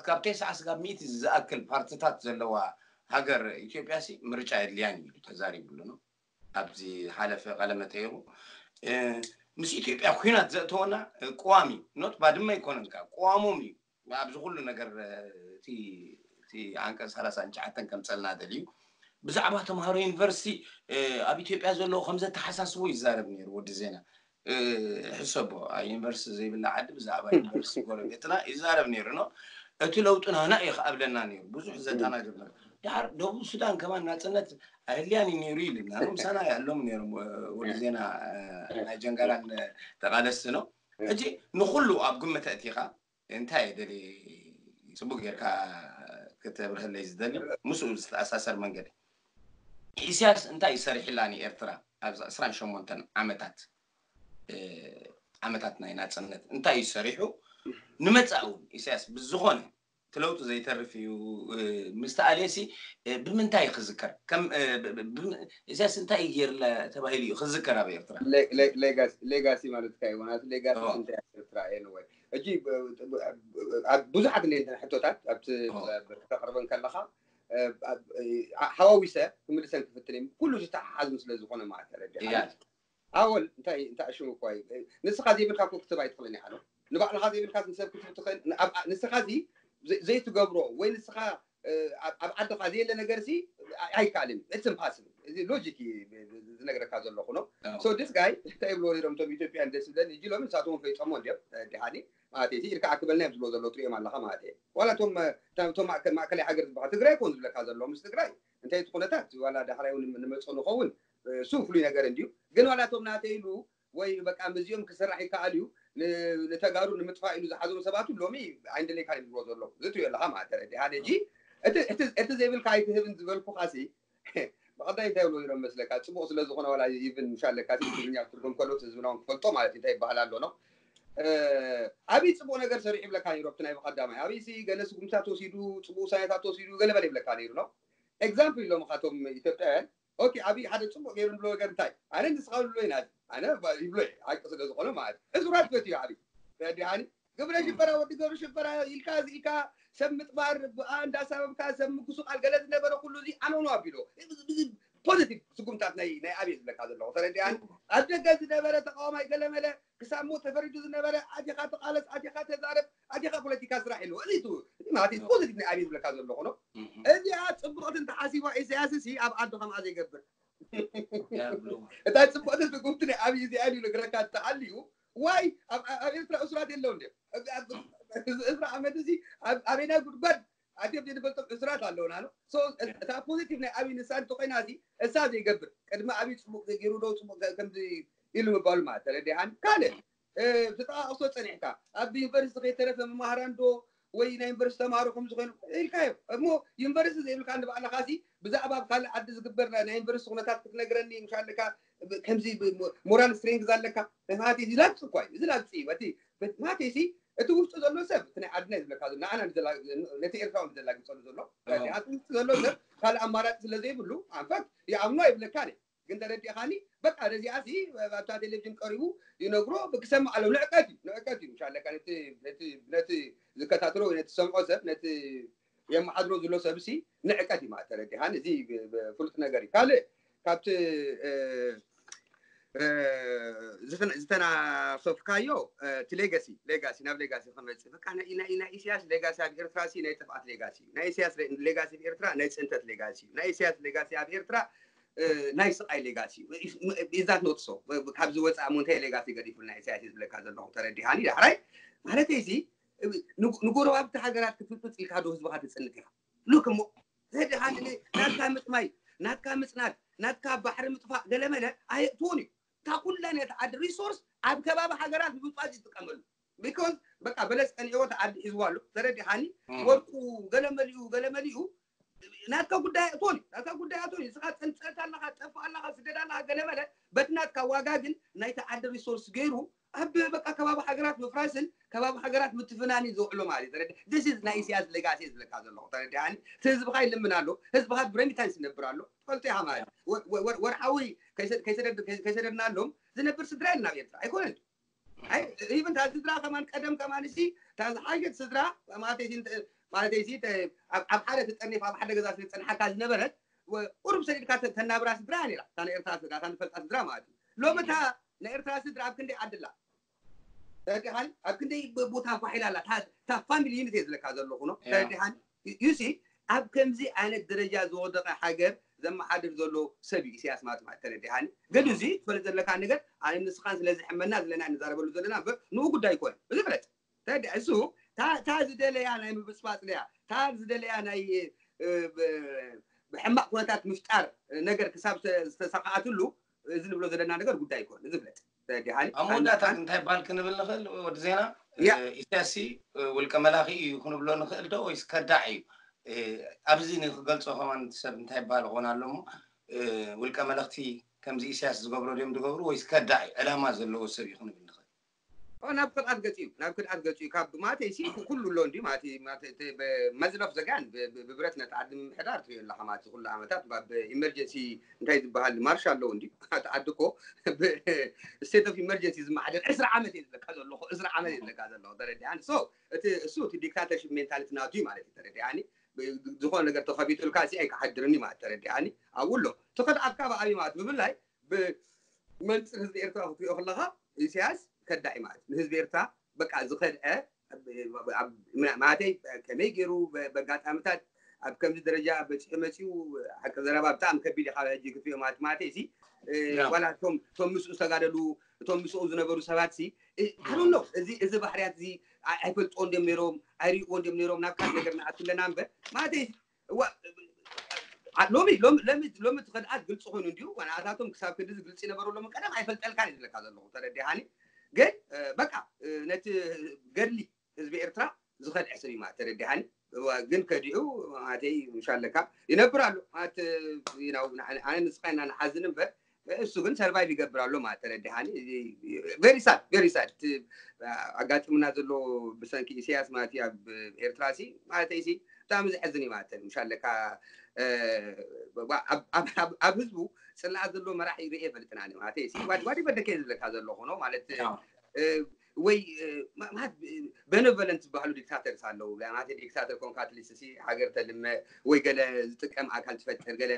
ካብ ቴስዓ ስጋብ ሚእቲ ዝኣክል ፓርትታት ዘለዋ ሃገር ኢትዮጵያ ሲ ምርጫ የድልያን እዩ ኢሉ ተዛሪቡ ኣሎ። ኣብዚ ሓለፈ ቃለ መጠይቁ ምስ ኢትዮጵያ ኩናት ዘእተወና ቅዋም እዩ ኖት ባድመ ኣይኮነን ከዓ ቅዋሞም እዩ ኣብዚ ኩሉ ነገር እቲ ዓንቀፅ ሰላሳ ትሽዓተ ከምፀልና ደልዩ ብዛዕባ ተምሃሮ ዩኒቨርሲቲ ኣብ ኢትዮጵያ ዘለዉ ከምዘተሓሳስቦ ይዛረብ ነይሩ ወዲ ዜና ሕሰቦ ዩኒቨርሲቲ ዘይብላ ዓዲ ብዛዕባ ዩኒቨርሲቲ ጎረቤትና ይዛረብ ነይሩ ነው እቲ ለውጥና ናይ ክኣብለና ነይሩ ብዙሕ ዘተናግር ነሩ ድሓር ደቡብ ሱዳን ከማን ናፅነት ኣህልያን እዩ ነይሩ ይልና ምሳና ያሎም ነይሮም ወዲ ዜና ናይ ጀንጋራን ተቃለስቲ ነው ሕጂ ንኩሉ ኣብ ግምት ኣእቲኻ እንታይ ደሊ ፅቡቅ ጌርካ ክተብርህለይ ዝደሊ ምስኡ ዝተኣሳሰር መንገዲ ኢሳያስ እንታይ ይሰሪሕላ ንኤርትራ ኣብዚ ዕስራን ሸሞንተን ዓመታት ዓመታት ናይ ናፅነት እንታይ እዩ ሰሪሑ ንመፃእ እውን ኢሳያስ ብዝኾነ እቲ ለውጢ ዘይተርፍ እዩ ምስ ተኣልየሲ ብምንታይ ክዝከር ኢሳያስ እንታይ ገይርለ ተባሂሉ እዩ ክዝከር ኣብ ኤርትራ ሌጋሲ ማለት ካዩ ናቱ ሌጋሲ እንታይ ኤርትራ ኤንወይ ሕጂ ብዙሓት እንደ ሕቶታት ኣብቲ ተቅርበን ከለካ ሓዋዊሰ ክምልሰን ክፍትን እዮም ኩሉ ዝተሓሓዝ ስለ ዝኾነ ማለት ተረዲኻ ኣወል እንታይ እንታይ ሽሙ እኳ እዩ ንስኻ ዘይብልካ እኮ ክትብ ኣይትኽእልን ኢኻ ንባዕልኻ ዘይብልካ ንሰብ ክትብ ትኽእል ንስኻ እዚ ዘይትገብሮ ወይ ንስኻ ኣብ ዓድኻ ዘየለ ነገር ሲ ኣይከኣልን it's impossible እዚ ሎጂክ ዝነግረካ ዘለኹ ነው so this guy እንታይ ይብልዎ ነይሮም እቶም ኢትዮጵያን ደስ ዝብለኒ እጂ ሎሚ ንሳቶም ፈይፀሞ እንዲዮም ዲሃኒ ማለት እዩ ኢልካ ኣክበልና እዮም ዝብሎ ዘለዉ ትሪኦም ኣለኻ ማለት እዩ ዋላ እቶም እቶም ማእከላይ ሃገር ዝበሃል ትግራይ ኮን ዝብለካ ዘለዉ ምስ ትግራይ እንታይ እቲ ኩነታት ዋላ ዳሕራይ እውን ንመፅኦ ንኸውን እሱ ፍሉይ ነገር እንድዩ ግን ዋላ እቶም ናተይ ኢሉ ወይ በቃ ምስዚኦም ክስራሕ ይከኣል እዩ ንተጋሩ ንምጥፋእ ኢሉ ዝሓዞም ሰባቱ ሎሚ ኣይንደለይካ ይብሎ ዘሎ ዝትሪኦ ኣለኻ ማለት ተረዲሃ ሕጂ እቲ ዘይብልካ ኣይትህብን ዝበልኩኻሲ ብቐዳይ እንታይ ብሎ ይሮም መስለካ ፅቡቅ ስለ ዝኾነ ዋላ ይብን ምሻለካ ትግርኛ ትርጉም ከሎ ህዝብና ክፈልጦ ማለት እንታይ ይበሃል ኣሎ ነው ኣብይ ፅቡቅ ነገር ሰሪሑ ይብለካ ነይሩ ኣብቲ ናይ ብቀዳማይ ኣብይ ሲ ገለ ስጉምታት ወሲዱ ፅቡቅ ውሳኔታት ወሲዱ ገለ በለ ይብለካ ነይሩ ነው ኤግዛምፕል ኢሎም ካቶም ኢትዮጵያውያን ኦኬ ኣብይ ሓደ ፅቡቅ ገይሩ ንብሎ ነገር እንታይ ኣነ ንስኻ ብሎ ኢና ኣነ ይብሎ ሓቂ ስለ ዝኾነ ማለት ሕሱራት ፈትዩ ኣብይ ተረዲሃኒ ግብረ ሽበራ ወዲ ገብረ ሽበራ ኢልካ ኢልካ ሰብ ምጥባር ብኣ እንዳሳበብካ ሰብ ምጉስቃል ገለ ዝነበረ ኩሉ እዚ ኣነውኖ ኣቢሎ ፖዚቲቭ ስጉምታት ናይ ናይ ኣብየ ዝብለካ ዘለኹ ተረዲኣኒ ኣብ ደገ ዝነበረ ተቃዋማይ ገለመለ ክሳብ ሞት ተፈሪዱ ዝነበረ ኣቲኻ ተቃለስ ኣቲኻ ተዛረብ ኣቲኻ ፖለቲካ ስራሕ ኢሉ እዚ ማለት ፖዚቲቭ ናይ ኣብየ ዝብለካ ዘለኹ ነው እዚኣ ፅቡቅቲ እንተሓሲባ ኢሳያስ ሲ ኣብ ዓዱ ከምኣ ዘይገብር እታ ፅቡቅቲ ስጉምቲ ናይ ኣብይ እዚኣ ኢሉ ነግረካ እንተሃልዩ ዋይ ኣብ ኤርትራ እሱራት የለው እንዲ እዚ እሱራ ዓመት እዚ ኣበይና ጉድጓድ ኣትዮም ዘይንፈልጦም እሱራት ኣለውና እታ ፖዚቲቭ ናይ ኣብይ ንሳ እንተኮይና እዚ እሳ ዘይገብር ቅድሚ ኣብይ ፅቡቅ ገይሩ ዶ ፅቡቅ ከምዚ ኢሉ ምባሉ ማለት ተረዲሃን ካልእ ዝተጠቃቅሶ ፀኒሕካ ኣብ ዩኒቨርሲቲ ከይተረፈ መማህራን ዶ ወይ ናይ ዩኒቨርሲቲ ተማሃሮ ከም ዝኾኑ ኢልካዮ እሞ ዩኒቨርሲቲ ዘይብልካ ንባዕልኻ ሲ ብዛዕባ ኣብ ካልእ ዓዲ ዝግበር ናይ ዩኒቨርሲቲ ኩነታት ክትነግረኒ ምሻለካ ከምዚ ሞራል ስትሬንግዝ ኣለካ ማለት እዚ ላግፂ እኳ እዩ እዚ ላግፂ እዩ እቲ ማለት ሲ እቲ ውሽጡ ዘሎ ሰብ እቲ ናይ ዓድና እዩ ዝብለካ ዘሎ ንዓና ነቲ ኤርትራዊ ዘላግፀሉ ዘሎ እቲ ውሽጡ ዘሎ ሰብ ካልእ ኣማራፂ ስለ ዘይብሉ ኣንፈት ይኣምኖ ኣይብለካን ግን ተረዲእኻኒ በቃ ነዚኣ ሲ ኣብታ ቴሌቪዥን ቀሪቡ ይነግሮ ክሰምዕ ኣለዎ ንዕቀት እዩ ንዕቀት እዩ ምሻለካ ነቲ ዝከታተሎ ወይ ነቲ ዝሰምዖ ሰብ ነቲ የመሓድሮ ዝሎ ሰብ ሲ ንዕቀት እዩ ማለት ተረዲኻኒ እዚ ፍሉጥ ነገር እዩ ካልእ ካብቲ ዝተናሰፍካዮ እቲ ሌጋሲ ሌጋሲ ናብ ሌጋሲ ክመፅእ በቃ ናይ ኢሳያስ ሌጋሲ ኣብ ኤርትራ ሲ ናይ ጥፍኣት ሌጋሲ ናይ ኢሳያስ ሌጋሲ ኣብ ኤርትራ ናይ ፅንተት ሌጋሲ ናይ ኢሳያስ ሌጋሲ ኣብ ኤርትራ ናይ ስቃይ ሌጋሲ ኢዛት ኖትሶ ካብዚ ወፃእ ሞንታይ ሌጋሲ ገዲፉልና ኢሳያስ ዝብለካ ዘለኹ ተረዲሃኒ ዳሕራይ ማለት እዚ ንጎረባብቲ ሃገራት ክትምፅፅ ኢልካ ዶ ህዝብካ ትፅንት ኢካ ሉክ እሞ ተረዲሃኒ ናትካ ምጥማይ ናትካ ምፅናት ናትካ ባሕሪ ምጥፋእ ገለመለ ኣየእትዎን እዩ እታ ኩላ ነቲ ዓዲ ሪሶርስ ኣብ ከባቢ ሃገራት ንምፅዋፅ ይጥቀመሉ ቢኮዝ በቃ በለስ ቀኒዕዎ እቲ ዓዲ ሒዝዋ ኣሎ ተረዲሃኒ ወርቁ ገለመሊኡ ገለመሊኡ ናትካ ጉዳይ ኣእትዎን እዩ ናትካ ጉዳይ ኣእትዎን እዩ ንስኻ ፀንፀት ኣለኻ ጠፍ ኣለኻ ስደድ ኣለኻ ገለመለ በቲ ናትካ ዋጋ ግን ናይቲ ዓዲ ሪሶርስ ገይሩ ኣብ በቃ ከባቢ ሃገራት ምፍራስን ከባቢ ሃገራት ምትፍናን እዩ ዝውዕሎ ማለት እዩ ተረዲ this is ናይ ኢሳያስ ሌጋሲ ዝብለካ ዘለኹ ተረዲሃኒ እቲ ህዝብኻ ይልምን ኣሎ ህዝብኻ ብረሚታንስ ይነብር ኣሎ ትፈልጦ ኢኻ ማለት እዩ ወርሓዊ ከይሰደድናሎም ዝነብር ስድራ የለን ኣብ ኤርትራ ኣይኮነን ኢቨን እታ ስድራ ከማን ቀደም ከማን ሲ እታ ዝሓሸት ስድራ ማለተይሲ ማለተይሲ ኣብ ሓደ ተጠርኒፋ ኣብ ሓደ ገዛ ስለ ዝፀንሓካ ዝነበረት ቁሩብ ሰዲድካ ተናብራ ስድራ ነራ እታ ናይ ኤርትራ ስድራ እታ ንፈልጣ ስድራ ማለት እዩ ሎሚ እታ ናይ ኤርትራ ስድራ ኣብ ክንደይ ዓድላ ተረዲኻኒ ኣብ ክንደይ ቦታ ፋሒላ ኣላ እታ ፋሚሊ ዩኒት እየ ዝለካ ዘለኹ ነው ተረዲኻኒ ዩሲ ኣብ ከምዚ ዓይነት ደረጃ ዝወደቀ ሃገር ዘመሓድር ዘሎ ሰብ እዩ ኢሳያስ ማለት ማለት ተረዲኻኒ ገዱ እዚ ትፈልጥ ዘለካ ነገር ኣነ ንስኻን ስለ ዝሕመና ዘለና ንዛረበሉ ዘለና እምበር ንኡ ጉዳይ ይኮነ እዚ ፍለጥ ተረዲ እሱ ታ ዝደለያ ናይ ምብፅባፅ ለያ ታ ዝደለያ ናይ ብሕማቅ ኩነታት ምፍጣር ነገር ክሳብ ዝተሰካኣትሉ እዚ ንብሎ ዘለና ነገር ጉዳይ ይኮነ እዚ ፍለጥ ተረዲኻኒ ኣብ መወዳእታ እንታይ ባል ክንብል ንኽእል ወዲ ዜና ኢሳያስ ውልቀ መላኺ እዩ ክንብሎ ንኽእል ዶ ወይስ ከዳዕ እዩ ኣብዚ ንክገልፆ ከማን ሰብ እንታይ ይበሃል ኾን ኣሎ እሞ ውልቀ መለኽቲ ከምዚ ኢሳያስ ዝገብሮ ድዮም ዝገብሩ ወይስ ከዳዕ እዩ ዕላማ ዘለዎ ሰብ እዩ ክንብል ንኽእል ናብ ክድዓት ገፂ እዩ ናብ ክድዓት ገፂ እዩ ካብ ማለተይ ሲ ኩሉ ኣሎ እንዲ ማለት መዝለፍ ዘጋን ብብረት ነቲ ዓዲ ምምሕዳር ትሪኦ ኣለካ ማለት ኩሉ ዓመታት ኢመርጀንሲ እንታይ ዝበሃል ማርሻ ኣለዉ እንዲ ዓዲ እኮ ስቴት ኦፍ ኢመርጀንሲ ዝመሓደር ዕስራ ዓመት እየ ዝብለካ ዘለኹ ዕስራ ዓመት እየ ዝብለካ ዘለኹ ተረዲኣኒ ሶ እቲ እሱ እቲ ዲክታተርሽፕ ሜንታሊቲ ናቱ እዩ ማለት እዩ ተረዲኣኒ ዝኾነ ነገር ተኸፊቱልካ ሲ ኣይክሓድርኒ ማለት ተረዲኣኒ ኣብኡ ኣሎ እቲ ከድዓትካ ብኣብይ ማለት ብፍላይ ብመንፅር ህዝቢ ኤርትራ ክትሪኦ ከለካ ኢሳያስ ከዳዒ ማለት ንህዝቢ ኤርትራ በቃ ዝኸድዐ ማለተይ ከመይ ገይሩ በጋጣሚታት ኣብ ከምዚ ደረጃ በፂሑ መፂኡ ሓቂ ዘረባ ብጣዕሚ ከቢድ እዩ ካብ ሕጂ ክትሪኦ ማለት ማለተይ እዚ ዋላ እቶም ምስኡ ዝተጋደሉ እቶም ምስኡ ዝነበሩ ሰባት ሲ ኣዶ ነው እዚ እዚ ባህርያት እዚ ኣይፈልጥዎ እንዲም ነይሮም ኣይርእዎ እንዲም ነይሮም ናብ ካልእ ነገር ንኣትለና እምበር ማለተይ ሎሚ ሎሚ ሎሚ እቲ ከድኣት ግልፂ ኮይኑ እንዲዩ ዋናኣታቶም ክሳብ ክንድዚ ግልፂ ይነበረሎም ቀደም ኣይፈልጠልካን እዩ ዝለካ ዘለኹ ተረዲሃኒ ግን በቃ ነቲ ገድሊ ህዝቢ ኤርትራ ዝኸድዐ ሰብ እዩ ማለት ተረዲሃኒ ግን ከዲዑ ማለተይ ምሻለካ ይነብር ኣሎ ማለት ኣነ ንስኻ ኢና ንሓዝን እምበር እሱ ግን survive ይገብር ኣሎ ማለት ተረዲሃኒ very sad very sad ኣጋጢሙና ዘሎ ብሰንኪ ኢሳያስ ማለት ኣብ ኤርትራ ሲ ማለተይ ሲ ብጣዕሚ ዘሕዝን እዩ ማለት ምሻለካ ኣብ ህዝቡ ፅላኣ ዘሎ መራሒ ርእየ ፈልጥና ማለት ሲ ዋዲ በደከ ዝብለካ ዘሎ ኾኖ ማለት ወይ benevolent ዝበሃሉ dictators ኣለዉ ማለት dictator ኮንካ ትሊስ ሲ ሃገር ተልመ ወይ ገለ ዝጥቀም ኣካል ትፈጥር ገለ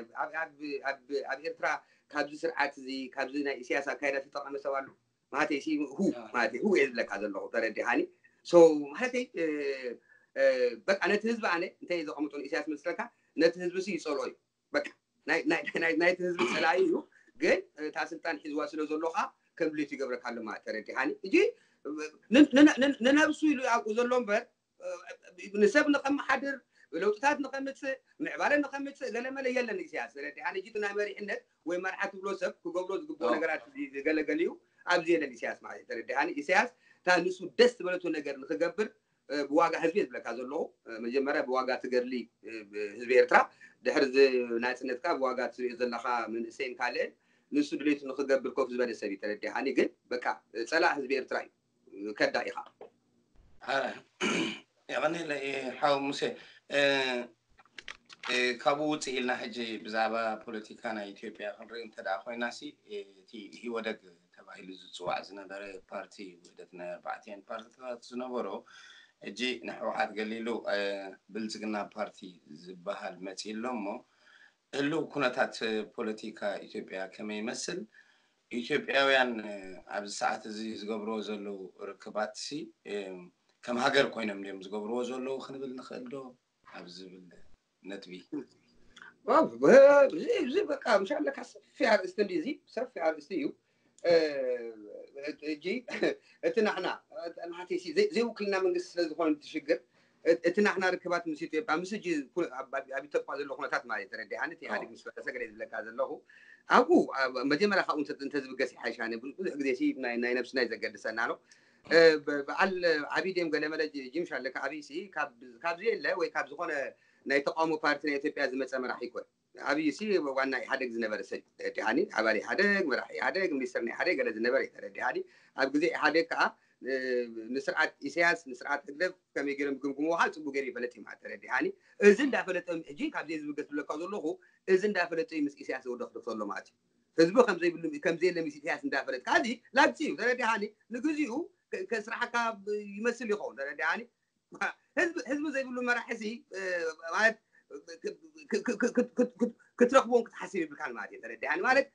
ኣብ ኤርትራ ካብዚ ስርዓት እዚ ካብዚ ናይ ኢሳያስ ኣካይዳ ተጠቐመ ሰብ ኣሎ ማለት ሲ ሁ ማለት ሁ እየ ዝብለካ ዘለኹ ተረዲሃኒ so ማለተይ በቃ ነቲ ህዝቢ ኣነ እንታይ ዘቐምጦ ንኢሳያስ መስለካ ነቲ ህዝቢ ሲ ይፀልኦ እዩ በቃ ናይቲ ህዝቢ ፀላኢ እዩ ግን እታ ስልጣን ሒዝዋ ስለ ዘሎ ከዓ ከም ድሌቱ ይገብረካ ኣሎ ማለት ተረዲሃኒ እጂ ንነብሱ ኢሉ ኣብኡ ዘሎ እምበር ንሰብ ንኸመሓድር ለውጥታት ንኸምፅእ ምዕባለ ንኸምፅእ ገለመለ የለን ኢሳያስ ተረዲሃኒ እጂ ናይ መሪሕነት ወይ መርሓ ትብሎ ሰብ ክገብሮ ዝግብኦ ነገራት ገለገለ እዩ ኣብዚ የለን ኢሳያስ ማለት ተረዲሃኒ ኢሳያስ እታ ንሱ ደስ ዝበለቱ ነገር ንክገብር ብዋጋ ህዝቢ ዝብለካ ዘለኹ መጀመርያ ብዋጋ ትገድሊ ህዝቢ ኤርትራ ድሕሪ ናፅነትካ ብዋጋ ትሪኦ ዘለካ መንእሰይን ካልእን ንሱ ድሌቱ ንክገብር ኮፍ ዝበለ ሰብ እዩ ተረዲሃኒ ግን በቃ ፀላእ ህዝቢ ኤርትራ እዩ ከዳ ኢኻ የቐኒለ ሓው ሙሴ ካብኡ ውፅእ ኢልና ሕጂ ብዛዕባ ፖለቲካ ናይ ኢትዮጵያ ክንርኢ እንተ ኮይና ሲ እቲ ህወደግ ተባሂሉ ዝፅዋዕ ዝነበረ ፓርቲ ውህደት ናይ ኣርባዕቲአን ፓርቲታት ዝነበሮ ሕጂ ንሕወሓት ገሊሉ ብልፅግና ፓርቲ ዝበሃል መፂ ኣሎ እሞ ህልው ኩነታት ፖለቲካ ኢትዮጵያ ከመይ ይመስል ኢትዮጵያውያን ኣብዚ ሰዓት እዚ ዝገብርዎ ዘለዉ ርክባት ሲ ከም ሃገር ኮይኖም ድዮም ዝገብርዎ ዘለዉ ክንብል ንኽእል ዶ ኣብ ዝብል ነጥቢ እዚ በቃ ምሻለካ ሰፊ ኣርእስቲ እንዲ እዚ ሰፊ ኣርእስቲ እዩ እጂ እቲ ናሕና ናሕቲ ዘይውክልና መንግስቲ ስለ ዝኾነ ትሽግር እቲ ናሕና ርክባት ምስ ኢትዮጵያ ምስ እጂ ኣብ ኢትዮጵያ ዘሎ ኩነታት ማለት ተረዲሃኒ እቲ ኢህኣዴግ ምስ ፈረሰ ገለ ዝብለካ ዘለኹ ኣብኡ መጀመርያ ካብኡ እንተዝብገስ ይሓይሻኒ ብዙሕ ግዜ ናይ ነብስና ዘገድሰና ነው በዓል ዓብይ ድም ገለመለ ጅምሽ ኣለካ ዓብይ ሲ ካብዚ የለ ወይ ካብ ዝኾነ ናይ ተቃውሞ ፓርቲ ናይ ኢትዮጵያ ዝመፀ መራሕ ይኮን ዓብይ ሲ ዋና ኢሓደግ ዝነበረ ሰብ ደሃኒ ኣባል ኢሓደግ መራሕ ኢሓደግ ሚኒስትር ናይ ኢሓደግ ገለ ዝነበረ ተረዲሃኒ ኣብ ግዜ ኢሓደግ ከዓ ንስርዓት ኢሳያስ ንስርዓት ህግደፍ ከመይ ገይሮም ግምግምዎ ከዓ ፅቡቅ ገይሩ ይፈለጥ እዩ ማለት ተረዲሃኒ እዚ እንዳፈለጠ ሕጂ ካብዚ ዝብገስ ዝብለካ ዘለኹ እዚ እንዳፈለጠ እዩ ምስ ኢሳያስ ዘወደኽደፍ ዘሎ ማለት እዩ ህዝቢ ከምዘይብሉ ከምዘየለ ምስ ኢሳያስ እንዳፈለጥ ካዚ ላግፂ እዩ ተረዲሃኒ ንግዚኡ ከስራሕካ ይመስል ይኸውን ተረዲሃኒ ህዝቢ ዘይብሉ መራሒ ሲ ማለት ክትረኽቦም ክትሓስብ ይብልካን ማለት እዩ ተረዲሃኒ ማለት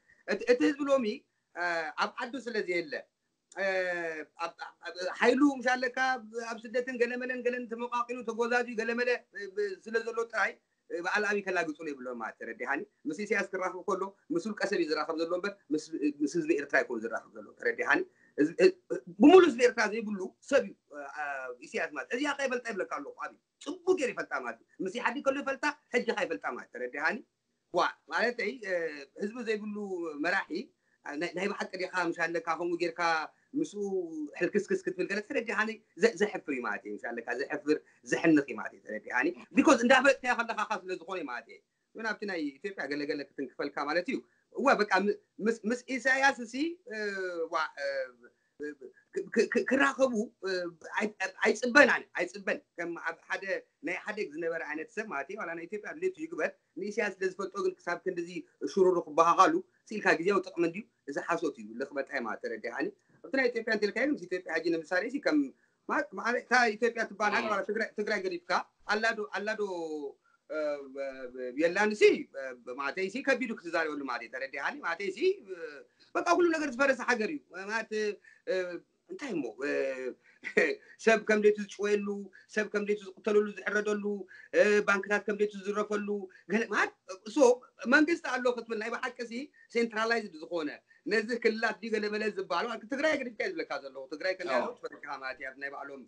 እቲ ህዝቢ ሎሚ ኣብ ዓዱ ስለ ዘየለ ሓይሉ ምሽ ኣለካ ኣብ ስደትን ገለመለን ገለን ተመቃቂሉ ተጎዛዙ ገለመለ ስለ ዘሎ ጥራይ በዓል ኣብይ ከላግፁ የብሎ ማለት ተረዲሃኒ ምስ ኢሳያስ ክራኸብ ከሎ ምስ ውልቀ ሰብ እዩ ዝራኸብ ዘሎ እምበር ምስ ህዝቢ ኤርትራ ይኮን ዝራኸብ ዘሎ ተረዲሃኒ ብሙሉ ህዝቢ ኤርትራ ዘይብሉ ሰብ እዩ ኢሳያስ ማለት እዚኣ ከይፈልጣ ይብለካ ኣለኹ ኣብይ ፅቡቅ ገይሩ ይፈልጣ ማለት እዩ ምስ ኢሓዲ ከሎ ይፈልጣ ሕጂ ከይፈልጣ ማለት ተረዲሃኒ ዋ ማለተይ ህዝቢ ዘይብሉ መራሒ ናይ ብሓቂ ዲኻ ምሽ ኣለካ ከምኡ ጌርካ ምስኡ ሕልክስክስ ክትብል ገለ ተረዲሃኒ ዘሕፍር እዩ ማለት እዩ ምሽ ኣለካ ዘሕፍር ዘሕንኽ እዩ ማለት እዩ ተረዲሃኒ ቢኮዝ እንዳፈለጥካዮ ከለካ ካብ ስለ ዝኾነ ማለት እዩ ግን ኣብቲ ናይ ኢትዮጵያ ገለገለ ክትንክፈልካ ማለት እዩ እዋ በቃ ምስ ኢሳያስ ሲ ክራኸቡ ኣይፅበን ኣነ ኣይፅበን ከም ኣብ ሓደ ናይ ሓደግ ዝነበረ ዓይነት ሰብ ማለት ዋላ ናይ ኢትዮጵያ ድሌቱ ይግበር ንኢሳያስ ስለ ዝፈልጦ ግን ክሳብ ክንድዚ ሽሩሩ ክበሃሃሉ ስኢልካ ግዜያዊ ጥቕሚ እንድዩ እዚ ሓሶት እዩ ልኽበጣይ ማለት ተረዲሃኒ ኣብቲ ናይ ኢትዮጵያ እንተልካዮ ምስ ኢትዮጵያ ሕጂ ንምሳሌ ሲ ከም ማለት እታ ኢትዮጵያ ትበሃል ሃገር ትግራይ ገዲፍካ ኣላዶ ኣላዶ የላንሲ ማለተይሲ ከቢዱ ክትዛረበሉ ማለት ተረዲሃኒ ማለተይሲ በቃ ኩሉ ነገር ዝፈረሰ ሃገር እዩ ማለት እንታይ እሞ ሰብ ከም ደቱ ዝጭወየሉ፣ ሰብ ከም ደቱ ዝቅተለሉ ዝሕረደሉ፣ ባንክታት ከም ደቱ ዝዝረፈሉ፣ ገለ ማለት ሶ መንግስቲ ኣሎ ክትብል ናይ ብሓቂ ሲ ሴንትራላይዝድ ዝኾነ ነዚ ክልላት ድዩ ገለ መለ ዝበሃሉ ትግራይ ገዲፍካ ዝብለካ ዘለኹ ትግራይ ከ ያለው ትፈልካ ማለት እያ ናይ ባዕሎም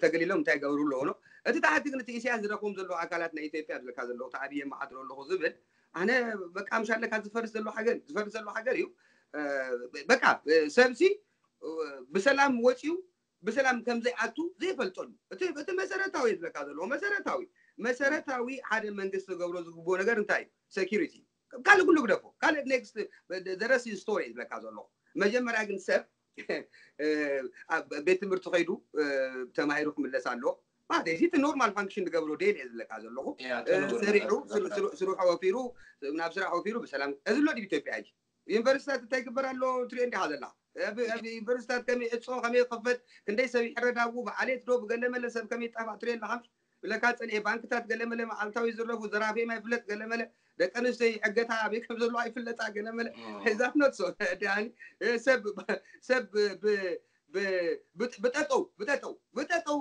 ተገሊሎም እንታይ ገብሩ ኣለዎ ነው። እቲ ታሕቲ ግን እቲ ኢሳያስ ዝረክቦም ዘለዉ ኣካላት ናይ ኢትዮጵያ ዝብለካ ዘለኹ ተዓብየ መሓድሮ ኣለኹ ዝብል ኣነ በቃ ምሻለካ ዝፈርስ ዘሎ ሃገር ዝፈርስ ዘሎ ሃገር እዩ። በቃ ሰብሲ ብሰላም ወፂኡ ብሰላም ከም ዘይኣቱ ዘይፈልጠሉ እቲ መሰረታዊ ዝብለካ ዘለዎ መሰረታዊ መሰረታዊ ሓደ መንግስቲ ዝገብሮ ዝግብኦ ነገር እንታይ እዩ? ሴኪሪቲ። ካልእ ኩሉ ግደፎ። ካልእ ኔክስት ዘረስ ስቶሪ ዝብለካ ዘለኹ። መጀመርያ ግን ሰብ ኣብ ቤት ትምህርቲ ከይዱ ተማሂሩ ክምለስ ኣለዎ። ማለት እዚ እቲ ኖርማል ፋንክሽን ዝገብሮ ዴል እየ ዝብለካ ዘለኹ። ስሪሑ ስርሑ ወፊሩ ናብ ስራሕ ወፊሩ ብሰላም እዚ ኣሎ ድብ ኢትዮጵያ ሕጂ ዩኒቨርሲታት እንታይ ግበር ኣሎ ትሪኦ እንዲኻ ዘላ። ዩኒቨርሲታት ከመይ ዕፆ ከመይ ክፈት ክንደይ ሰብ ይሕረዳቡ ብዓሌት ዶ ብገለመለ ሰብ ከመይ ይጣፋእ ትሪኦ ኣለኻ። ብለካ ፀኒኤ ባንክታት ገለመለ መዓልታዊ ዝረፉ ዘራፊ ማይ ፍለጥ ገለመለ ደቂ ኣንስትዮ ይሕገታ ኣበይ ከም ዘሎ ኣይፍለጣ ገለመለ ዛት ኖት ሶ ሰብ ሰብ ብጠጠው ብጠጠው ብጠጠው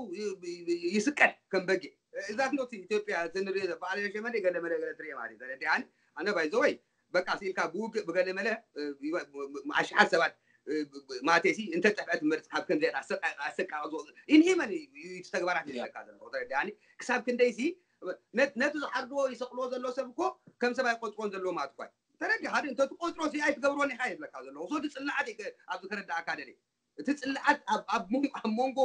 ይስቀል ከም በጊዕ ዛት ኖት ኢትዮጵያ ትንሪኦ በዓል ሸመደ ገለመለ ገለ ትሪኦ ማለት እዩ ተረዲኣኒ ኣነ ባይዘወይ በቃ ኢልካ ብውግእ ብገለመለ ኣሽሓት ሰባት ማቴሲ እንተጠፍዐት መርፅ ካብ ከምዚ ኣሰቃቂ ኢንሂመን እዩ ተግባራት ይዘካ ዘሎ ተረዳኒ ክሳብ ክንደይሲ ነቲ ዝሓርድዎ ይሰቅልዎ ዘሎ ሰብ እኮ ከም ሰብ ኣይቆፅሮን ዘለዎ ማለት እኳ ተረዲ ሓደ እንተትቆፅሮ ሲ ኣይትገብሮን ኢካ ይብለካ ዘለኹ ሶ እቲ ፅላዓት ኣብዚ ከረዳእካ ደለ እቲ ፅላዓት ኣብ መንጎ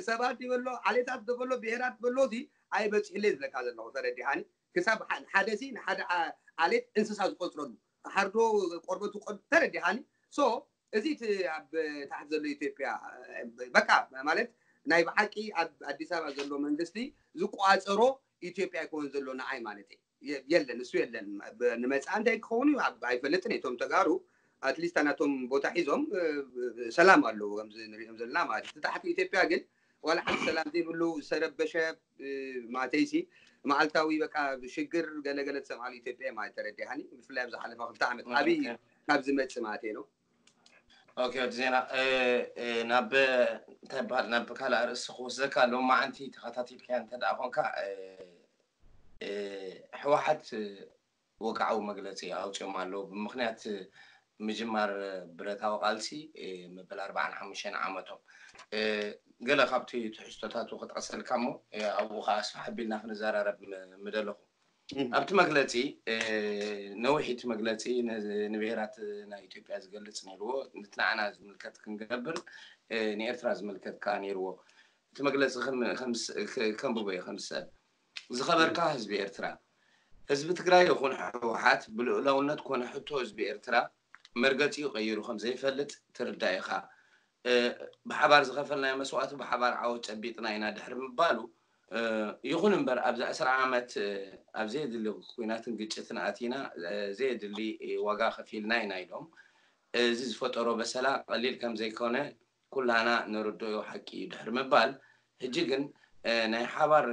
ሰባት ይበሎ ዓሌታት በሎ ብሄራት በሎ ሲ ኣይበፅሕለ ይብለካ ዘለኹ ተረዲሃኒ ክሳብ ሓደ ሲ ንሓደ ዓሌት እንስሳ ዝቆፅረሉ ሓርዶ ቆርበቱ ተረዲሃኒ ሶ እዚ እቲ ኣብ ታሕቲ ዘሎ ኢትዮጵያ በቃ ማለት ናይ ብሓቂ ኣብ ኣዲስ ኣበባ ዘሎ መንግስቲ ዝቋፀሮ ኢትዮጵያ ይኮን ዘሎ ንዓይ ማለት እዩ የለን እሱ የለን ንመፅኣ እንታይ ክኸውን እዩ ኣይፈልጥን እቶም ተጋሩ ኣትሊስት ናቶም ቦታ ሒዞም ሰላም ኣለዉ ከምዚ ንሪኦም ዘለና ማለት እዩ ታሕቲ ኢትዮጵያ ግን ዋላ ሓንቲ ሰላም ዘይብሉ ዝተረበሸ ማተይሲ መዓልታዊ በቃ ሽግር ገለገለ ትሰምዓሉ ኢትዮጵያ ማለት ተረዲሃኒ ብፍላይ ኣብ ዝሓለፈ ክልተ ዓመት ኣብይ ካብ ዝመፅእ ማለት ነው ኦኬ ወዲ ዜና ናብ እንታይ በሃል ናብ ካልእ ኣርእስቲ ክወስደካ ሎማዓንቲ ተኸታቲልካያ እንተ ደኣ ኮንካ ህወሓት ወግዓዊ መግለፂ ኣውፅኦም ኣለዉ ብምክንያት ምጅማር ብረታዊ ቃልሲ መበል ኣርባዓን ሓሙሽተን ዓመቶም ገለ ካብቲ ትሕዝቶታቱ ክጠቕሰልካ እሞ ኣብኡ ከዓ ኣስፋሕ ኣቢልና ክንዘራረብ ምደለኹ ኣብቲ መግለፂ ነዊሕ እቲ መግለፂ ንብሄራት ናይ ኢትዮጵያ ዝገልፅ ነይርዎ ንትንዓና ዝምልከት ክንገብር ንኤርትራ ዝምልከት ከዓ ነይርዎ እቲ መግለፂ ከንብቦ እየ ከምዝሰል ዝኸበርካ ህዝቢ ኤርትራ ህዝቢ ትግራይ ይኹን ህወሓት ብልኡላውነት ኮነ ሕቶ ህዝቢ ኤርትራ መርገፂኡ ቀይሩ ከም ዘይፈልጥ ትርዳእ ኢኻ ብሓባር ዝኸፈልናዮ መስዋእቲ ብሓባር ዓወት ጨቢጥና ኢና ድሕሪ ምባሉ ይኹን እምበር ኣብዚ ዕስራ ዓመት ኣብ ዘየድሊ ኩናትን ግጭትን ኣቲና ዘየድሊ ዋጋ ከፊልና ኢና ኢሎም እዚ ዝፈጠሮ በሰላ ቀሊል ከም ዘይኮነ ኩላና ንርድኦ ሓቂ እዩ ድሕሪ ምባል ሕጂ ግን ናይ ሓባር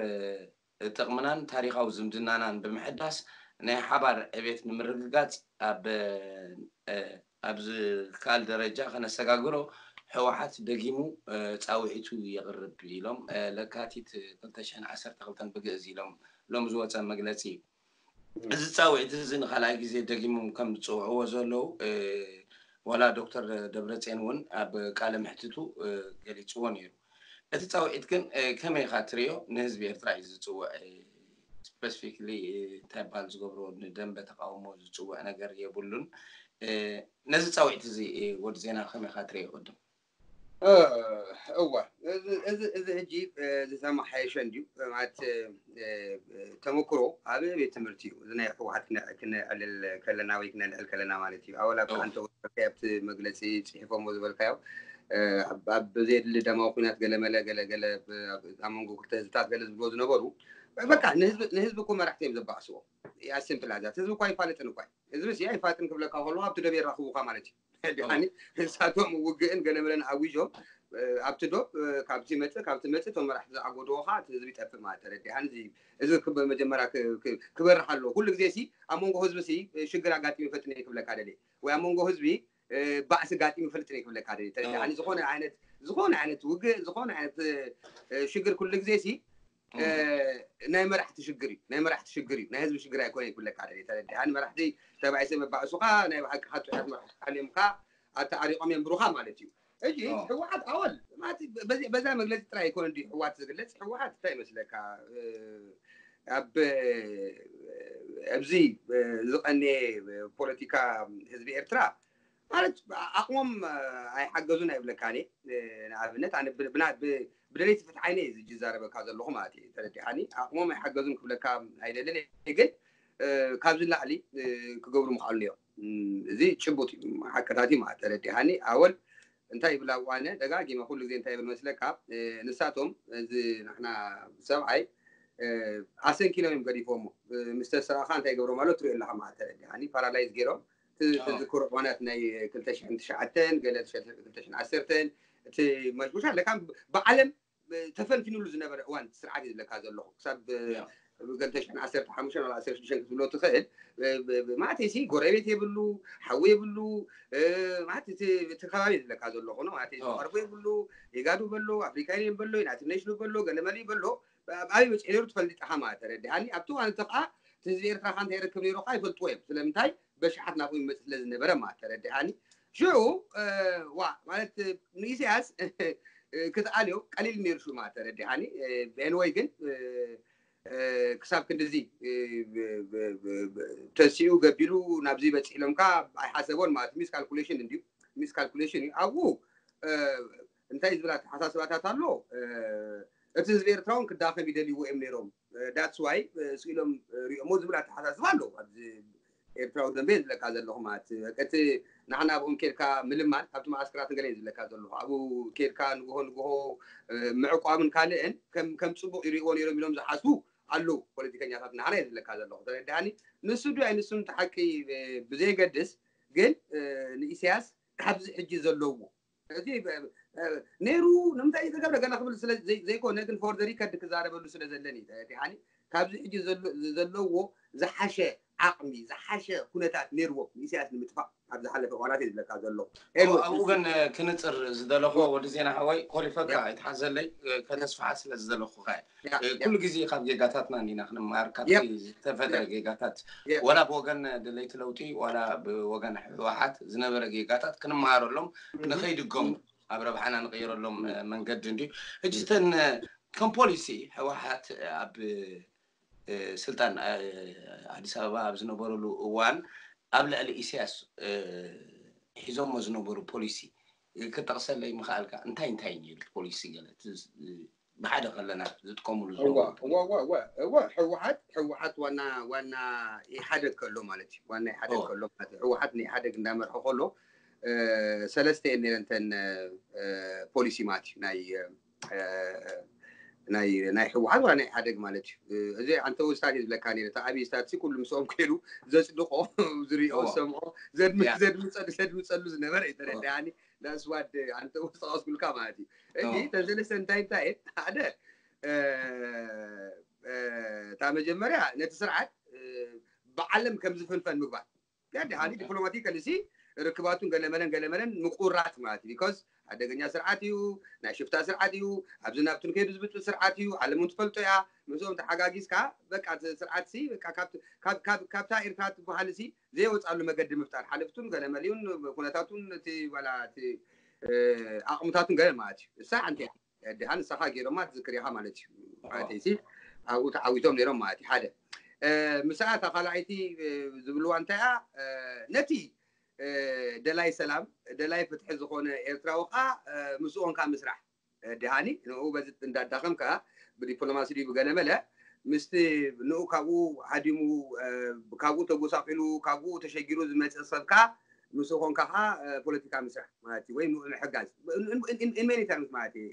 ጥቕምናን ታሪኻዊ ዝምድናናን ብምሕዳስ ናይ ሓባር ዕቤት ንምርግጋፅ ኣብ ኣብ ዝከኣል ደረጃ ከነሰጋግሮ ህወሓት ደጊሙ ፃውዒቱ የቕርብ ኢሎም ለካቲት ክልተ ሽሕን ዓሰርተ ክልተን ብግእዝ ኢሎም ሎም ዝወፀ መግለፂ እዩ እዚ ፃውዒት እዚ ንካልኣይ ግዜ ደጊሞም ከም ዝፅውዕዎ ዘለዉ ዋላ ዶክተር ደብረፅዮን እውን ኣብ ቃለ ምሕትቱ ገሊፅዎ ነይሩ እቲ ፃውዒት ግን ከመይ ኢካ ትሪኦ ንህዝቢ ኤርትራ እዩ ዝፅውዕ specifically እንታይ በሃል ዝገብሮ ንደንበ ተቃውሞ ዝፅውዕ ነገር የብሉን ነዚ ፃውዒት እዚ ወዲ ዜና ከመይ ኢካ ትሪኦ ቅድም እወ እዚ ሕጂ ዝተመሓየሸ እንድዩ ማለት ተመክሮ ኣብ ቤት ትምህርቲ እዩ እዚ ናይ ህወሓት ክነዕልል ከለና ወይ ክነልዕል ከለና ማለት እዩ ኣወላ ብሓንተ ወ ኣብቲ መግለፂ ፅሒፎሞ ዝበልካዮ ኣብ ዘየድሊ ደማዊ ኩናት ገለመለ ገለገለ ኣብ መንጎ ክልተ ህዝብታት ገለ ዝብሎ ዝነበሩ በቃ ንህዝቢ እኮ መራሕቲ እዮም ዘባእስዎ ያስምፕል ኣዛት ህዝቢ እኳ ይፋለጥን እኳ ህዝቢ ሲ ኣይፋጥን ክብለካ ከለዎ ኣብቲ ደብ የራኽቡካ ማለት እዩ ድሓኒ ንሳቶም ውግእን ገለመለን ኣዊጆም ኣብቲ ዶብ ካብቲ መፅእ ካብቲ መፅእ እቶም መራሕቲ ዝኣጎድዎ ከዓ እቲ ህዝቢ ይጠፍእ ማለት ተረዲሓን እዚ ክበ መጀመርያ ክበርሕ ኣለዎ ኩሉ ግዜ ሲ ኣብ መንጎ ህዝቢ ሲ ሽግር ኣጋጢሙ ይፈጥነ ክብለካ ደልየ ወይ ኣብ መንጎ ህዝቢ ባእሲ ጋጢሙ ይፈልጥን ክብለካ ደ ተረዳኒ። ዝኾነ ዓይነት ዝኾነ ዓይነት ውግእ ዝኾነ ዓይነት ሽግር ኩሉ ግዜ ሲ ናይ መራሕቲ ሽግር እዩ። ናይ መራሕቲ ሽግር እዩ። ናይ ህዝቢ ሽግር ኣይኮነ ክብለካ ደ ተረዳኒ። መራሕቲ ተባኢሰ መባእሱኻ ናይ ብሓቂ ካጥዑያት መራሕቲ ሓልዮምካ ኣተዓሪቆም የንብሩኻ ማለት እዩ። እጂ ህወሓት ኣወል በዛ መግለፂ ጥራይ ኣይኮነ እንዲ ህወሓት ዝግለፅ። ህወሓት እንታይ ይመስለካ ኣብ ኣብዚ ዝቐንየ ፖለቲካ ህዝቢ ኤርትራ ማለት ኣቕሞም ኣይሓገዙን ኣይብለካን። ንኣብነት ኣነ ብደለይቲ ፍትሓይነ ዝዛረበካ ዘለኹ ማለት እዩ። ተረዲሓኒ ኣቕሞም ኣይሓገዙን ክብለካ ኣይደልን። ግን ካብዚ ላዕሊ ክገብሩ ምኽኣሉ እዮም። እዚ ጭቡጥ እዩ፣ ሓቅታት እዩ ማለት ተረዲሓኒ። ኣወል እንታይ ይብል ኣብዋነ ደጋጊመ ኩሉ ግዜ እንታይ ይብል መስለካ? ንሳቶም እዚ ንሕና ሰብዓይ ኣሰንኪሎም እዮም ገዲፎሞ። ምስ ተሰራኻ እንታይ ገብሮም ኣሎ ትሪኦ ኣለኻ ማለት ተረዲሓኒ። ፓራላይዝ ገይሮም ትዝክሮ እዋናት ናይ ክልተ ሽሕን ትሽዓተን ገለ ክልተ ሽሕን ዓሰርተን እቲ መሽጉሻ ለካ ብዓለም ተፈንፊኑሉ ዝነበረ እዋን ስርዓት እዩ ዝብለካ ዘለኹ። ክሳብ ክልተ ሽሕን ዓሰርተ ሓሙሽተን ወላ ዓሰርተ ሽዱሽተን ክትብሎ ትኽእል። ማለት ሲ ጎረቤት የብሉ፣ ሓዊ የብሉ። ማለት እቲ ከባቢ ዝብለካ ዘለኹ ነው ማለት ዝቐርቦ የብሉ። ኢጋዱ በሎ፣ ኣፍሪካ ዩኒየን በሎ፣ ዩናይትድ ኔሽኑ በሎ፣ ገለመሊ በሎ። ኣበይ መፅኡ ነይሩ ትፈልጥ ኢኻ ማለት ተረዲኣኒ። ኣብቲ እዋን እቲ ከዓ ህዝቢ ኤርትራ ከዓ እንታይ ይረክብ ነይሩ ከዓ ይፈልጥዎ እዮም። ስለምንታይ በሽሓት ናብኡ ይመፅእ ስለ ዝነበረ ማለት ተረዲኣኒ። ሽዑ ዋ ማለት ንኢሳያስ ክትኣልዮ ቀሊል ነይሩ ሽዑ ማለት ተረዲኣኒ። ኤንወይ ግን ክሳብ ክንድዚ ተሲኡ ገቢሉ ናብዚ በፂሕ ኢሎም ከዓ ኣይሓሰቦን ማለት ሚስ ካልኩሌሽን እንድዩ። ሚስ ካልኩሌሽን እዩ ኣብኡ እንታይ ዝብል ኣተሓሳስባታት ኣሎ። እቲ ህዝቢ ኤርትራ እውን ክዳኸም ይደልይዎ እዮም ነይሮም። ዳትስ ዋይ ስኢሎም ሪኦሞ ዝብል ኣተሓሳስባ ኣሎ ኣብዚ ኤርትራዊ ደንበ ዝብለካ ዘለኹ ማለት እቲ ንሕና ኣብኦም ኬድካ ምልማን ኣብቲ ማዓስከራት ገለ ዝብለካ ዘለኹ ኣብኡ ኬድካ ንግሆ ንግሆ ምዕቋምን ካልእን ከም ፅቡቅ ይሪእዎ ነይሮም ኢሎም ዝሓስቡ ኣለዉ ፖለቲከኛታት ንሕና ዝብለካ ዘለኹ ተረዳኒ። ንሱ ዱ ኣይንሱን ተሓቂ ብዘየገድስ ግን ንኢሳያስ ካብዚ ሕጂ ዘለዎ እዚ ነይሩ ንምንታይ ዝተገብረ ገለ ክብል ዘይኮነ ግን ፎር ዘ ሪከርድ ክዛረበሉ ስለ ዘለኒ ተረዲሓኒ። ካብዚ ሕጂ ዘለዎ ዝሓሸ ዓቕሚ ዝሓሸ ኩነታት ነይርዎ ንኢሳያስ ንምጥፋእ ኣብ ዝሓለፈ እዋናት እዩ ዝብለካ ዘለኹ። ኣብኡ ግን ክንፅር ዝደለኹ ወዲ ዜና ሓወይ ኮሊፈካ ኣይትሓዘለይ ከተስፍሓ ስለ ዝደለኹ ከ ኩሉ ግዜ ካብ ጌጋታትና እንዲና ክንመሃር ካብቲ ዝተፈጥረ ጌጋታት ዋላ ብወገን ደለይቲ ለውጢ ዋላ ብወገን ህወሓት ዝነበረ ጌጋታት ክንመሃረሎም ንኸይድገሙ ኣብ ረብሓና ንቀይረሎም መንገዲ እንድዩ። ሕጂ እተን ከም ፖሊሲ ህወሓት ኣብ ስልጣን ኣዲስ ኣበባ ኣብ ዝነበረሉ እዋን ኣብ ልዕሊ ኢሳያስ ሒዞሞ ዝነበሩ ፖሊሲ ክጠቕሰለይ ምኽኣልካ እንታይ እንታይ ነይሩ ፖሊሲ ገለ ብሓደ ከለና ዝጥቀምሉ ህወሓት ህወሓት ዋና ዋና ኢሓደግ ከሎ ማለት እዩ ዋና ኢሓደግ ከሎ ማለት ህወሓት ንኢሓደግ እንዳመርሐ ከሎ ሰለስተ እየን ነይረን እተን ፖሊሲ ማለት እዩ ናይ ናይ ናይ ህወሓት ዋላ ናይ ኢሓደግ ማለት እዩ። እዚ ኣንተ ስታት እዩ ዝብለካ ነይረ እቲ ኣብይ ስታት ኩሉ ምስኦም ከይዱ ዘፅድቆ ዝሪኦ ዝሰምዖ ዘድምፀሉ ዘድምፀሉ ዝነበረ እዩ ተረዳኣኒ። ዳስዋድ ኣንተ ጠቐስኩልካ ማለት እዩ። እዚ ተሰለስተ እንታይ እንታይ ሓደ እታ መጀመርያ ነቲ ስርዓት ብዓለም ከም ዝፍንፈን ምግባር ያዲ ሃሊ ዲፕሎማቲካሊ ሲ ርክባቱን ገለመለን ገለመለን ምቁራት ማለት እዩ። ቢኮዝ ሓደገኛ ስርዓት እዩ፣ ናይ ሽፍታ ስርዓት እዩ። ኣብዚ ናብቱን ከይዱ ዝብጥል ስርዓት እዩ። ዓለም እውን ትፈልጦ እያ። ምስኦም ተሓጋጊዝካ በቃ እቲ ስርዓት ሲ በቃ ካብታ ኤርትራ ትበሃል ሲ ዘይወፃሉ መገዲ ምፍጣር ሓለፍቱን ገለመሊኡን ኩነታቱን እቲ ዋላ እቲ ኣቕምታቱን ገለን ማለት እዩ። እሳ ሓንቲ እያ። ድሓ ንስኻ ገይሮማ ትዝክር ኢኻ ማለት እዩ። ማለተይሲ ኣብኡ ተዓዊቶም ነይሮም ማለት እዩ። ሓደ ምስኣ እታ ካልኣይቲ ዝብልዋ እንታይ እያ ነቲ ደላይ ሰላም ደላይ ፍትሒ ዝኾነ ኤርትራዊ ኸዓ ምስኡ ኮንካ ምስራሕ ድሃኒ ንኡ በዚ እንዳዳኸምካ ብዲፕሎማሲ ድዩ ብገለመለ ምስቲ ንኡ ካብኡ ሃዲሙ ካብኡ ተጎሳቂሉ ካብኡ ተሸጊሩ ዝመፅእ ሰብ ከዓ ምስኡ ኮንካ ከዓ ፖለቲካ ምስራሕ ማለት እዩ ወይ ንኡ ምሕጋዝ in many terms ማለት እዩ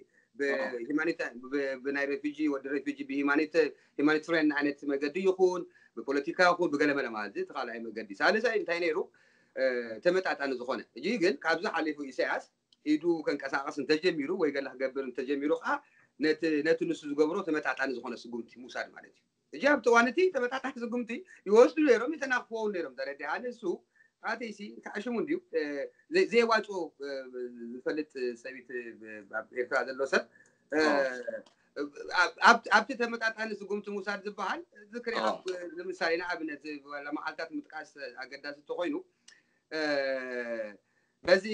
ብናይ ሬፊጂ ወዲ ሬፊጂ ብሂማኒትሪያን ዓይነት መገዲ ይኹን ብፖለቲካ ይኹን ብገለመለ ማለት እዚ ተካልኣይ መገዲ ሳልሳይ እንታይ ነይሩ ተመጣጣኒ ዝኾነ እጂ ግን ካብዚ ሓሊፉ ኢሳያስ ኢዱ ከንቀሳቀስ እንተጀሚሩ ወይ ገለ ክገብር እንተጀሚሩ ከዓ ነቲ ንሱ ዝገብሮ ተመጣጣኒ ዝኾነ ስጉምቲ ምውሳድ ማለት እዩ። እጂ ኣብቲ እዋን እቲ ተመጣጣኒ ስጉምቲ ይወስዱ ነይሮም ይተናክፍዎ ነይሮም ተረዲኣ ንሱ ኣተይሲ ከዕሽሙ እንድዩ። እ፣ ዘይ- ዘየዋፅኦ፣ እ፣ ዝፈልጥ ሰብይቲ፣ እ፣ ኣብ ኤርትራ ዘሎ ሰብ፣ እ፣ ኣብ- ኣብ- ኣብቲ ተመጣጣኒ ስጉምቲ ምውሳድ ዝበሃል ዝክሪ ኦ። ኣብ ንምሳሌ ንኣብነት መዓልታት ምጥቃስ ኣገዳሲ እንተኮይኑ፣ እ፣ በዚ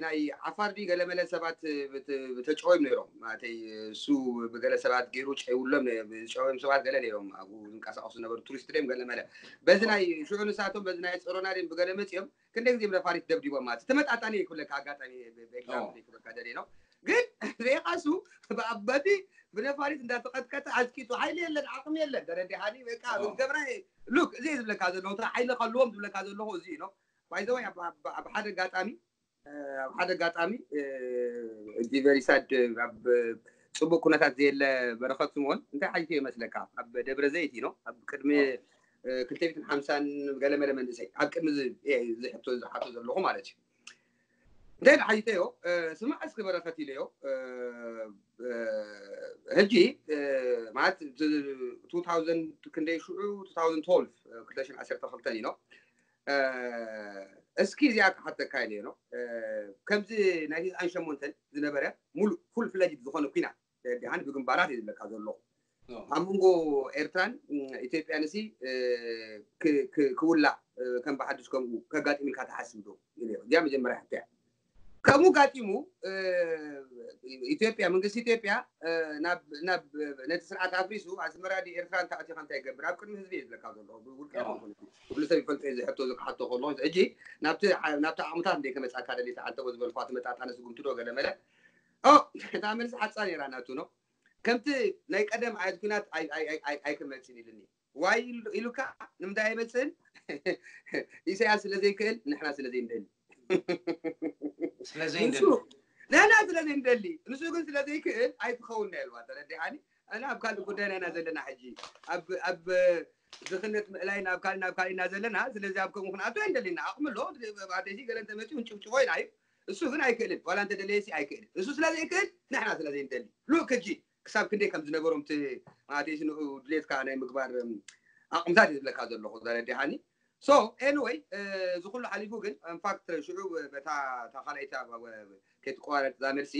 ናይ ዓፋር ድዩ ገለመለ ሰባት ብት- ብተጨወዮም ነይሮም። ማለተይ እሱ ብገለ ሰባት ገይሩ ጨይውሎም ነ- ዝጨወዮም ሰባት ገለ ነይሮም፣ ኣብኡ ዝንቀሳቀሱ ዝነበሩ ቱሪስት ድዮም ገለመለ። በዚ ናይ ሽዑ ንሳቶም በዚ ናይ ጸሮና ድዮም ብገለ መጺኦም ክንደይ ግዜ ብነፋሪት ደብዲቦም ማለት ተመጣጣኒ ይክብለካ። ኣጋጣሚ ብኤግዛምፕል ይክበካ ደሊ ነው። ግን ሬቃሱ በቲ ብነፋሪት እንዳተቀጥቀጠ ኣዝቂጡ ሓይሊ የለን፣ ዓቅሚ የለን። ተረዲሓኒ? በቃ ኦ። ገብራ ሉክ እዚ ዝብለካ ዘለኹ፣ ሓይሊ ከልዎም ዝብለካ ዘለኹ እዚ ነው። ባይዘወይ ኣብ ሓደ ኣጋጣሚ ኣብ ሓደ ኣጋጣሚ እቲ ቨሪ ሳድ ኣብ ጽቡቅ ኩነታት ዘየለ በረኸት ስምኦን እንታይ ሓይቱ ይመስለካ? ኣብ ደብረ ዘይት ነው። ኣብ ቅድሚ ክልተ ሚእትን ሓምሳን ገለመለ መንእሰይ ኣብ ቅድሚ ዝሕቶ ዝሓቶ ዘለኹ ማለት እዩ። እንታይ ሓይተዮ? ስማዕ እስኪ በረኸት ኢለዮ። ሕጂ ማለት ቱ ታውዘንድ ክንደይ ሽዑ ቱ ታውዘንድ ትወልቭ ክልተ ሽሕን ዓሰርተ ክልተን እዩ ነው። እስኪ እዚኣ ክሓተካ ኢለ ነው። ከምዚ ናይ ቲስዓን ሸሞንተን ዝነበረ ሙሉእ ፉል ፍለጅድ ዝኾነ ኩናት ደሓን ብግንባራት እዩ ዝብለካ ዘለኹ። ኣብ መንጎ ኤርትራን ኢትዮጵያን ሲ ክውላዕ ከም ብሓድሽ ከምኡ ከጋጥም ኢልካ ትሓስብ ዶ? እዚኣ መጀመርያ ሕቶ እያ። ከምኡ ጋጢሙ ኢትዮጵያ መንግስቲ ኢትዮጵያ ናብ ነቲ ስርዓት ኣፍሪሱ ኣስመራ ድዩ ኤርትራ እንተኣቲኻ እንታይ ይገብር ኣብ ቅድሚ ህዝቢ እዩ ዝብለካ ዘሎ። ብውልቀ ኩሉ ሰብ ይፈልጦ እዩ ዝሕቶ ዝክሓቶ ከሎ ሕጂ ናብቲ ናብቲ ዓቕምታት እንደ ከመፃካ ደሊታ ኣንተ ዝበልኳ ተመጣጣነ ስጉምቲ ዶ ገለመለ እታ መልሲ ሓፃ ነይራ ናቱ ነው። ከምቲ ናይ ቀደም ዓይነት ኩናት ኣይክመፅን ኢልኒ ዋይ ኢሉካ ንምንታይ ኣይመፅእን? ኢሳያስ ስለ ዘይክእል ንሕና ስለ ዘይንደሊ ስለዘይንደሊ ንሕና ስለ ዘይንደሊ ንሱ ግን ስለ ዘይክእል ኣይትኸውን ና ኢልዋ። ተረዲሓኒ? ኣና ኣብ ካልእ ጉዳይ ናይና ዘለና ሕጂ ኣብ ድኽነት ምእላይ ናብ ካልእ ናብ ካልእ ኢና ዘለና። ስለዚ ኣብ ከምኡ ክንኣቶ ኣይንደሊና። ኣቕሚ ኣሎ። ኣተይሲ ገለ እንተመፂኡ ንጭብጭቦ ኢና እዩ። እሱ ግን ኣይክእልን። ዋላ እንተደለየሲ ኣይክእልን። እሱ ስለ ዘይክእል ንሕና ስለ ዘይንደሊ ሉክ ሕጂ ክሳብ ክንደይ ከም ዝነበሮም እቲ ማለተይሲ ንኡ ድሌትካ ናይ ምግባር ኣቕምታት እዩ ዝብለካ ዘለኹ። ተረዲሓኒ? ሶ ኤኒወይ እዚ ኩሉ ሓሊፉ ግን ኢንፋክት ሽዑ በታ ካልኣይቲ ከይትቆራረጥ እዛ መልሲ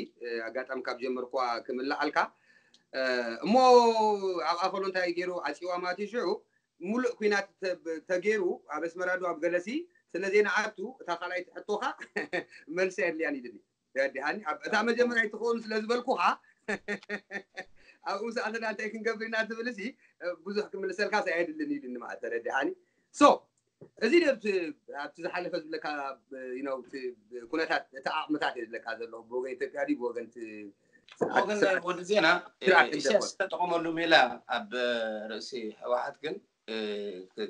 ኣጋጣሚ ካብ ጀመርኳ ክምልኣልካ እሞ ኣብ ኣኸሎ እንታይ ገይሩ ዓፂዋ ማለት እዩ። ሽዑ ሙሉእ ኩናት ተገይሩ ኣብ ኣስመራ ዶ ኣብ ገለሲ ስለ ዘይንኣቱ እታ ካልኣይቲ ሕቶኻ መልሲ ኣድልያን ኢልኒ። ተረዲሓኒ? እታ መጀመርያ ኣይትኸውን ስለ ዝበልኩኻ ኣብኡ ሰኣተና እንታይ ክንገብር ኢና ትብል ሲ ብዙሕ ክምልሰልካ ኣየድልን ኢልኒ ማለት ተረዲሓኒ? ሶ እዚ ኣብቲ ዝሓለፈ ዝብለካ ኩነታት እቲ ዓቕምታት እየ ዝብለካ ዘለኹ ብወገን ኢትዮጵያ ድዩ ብወገን ወገን ወዲ ዜና ኢሳያስ ዝተጠቐመሉ ሜላ ኣብ ርእሲ ህወሓት ግን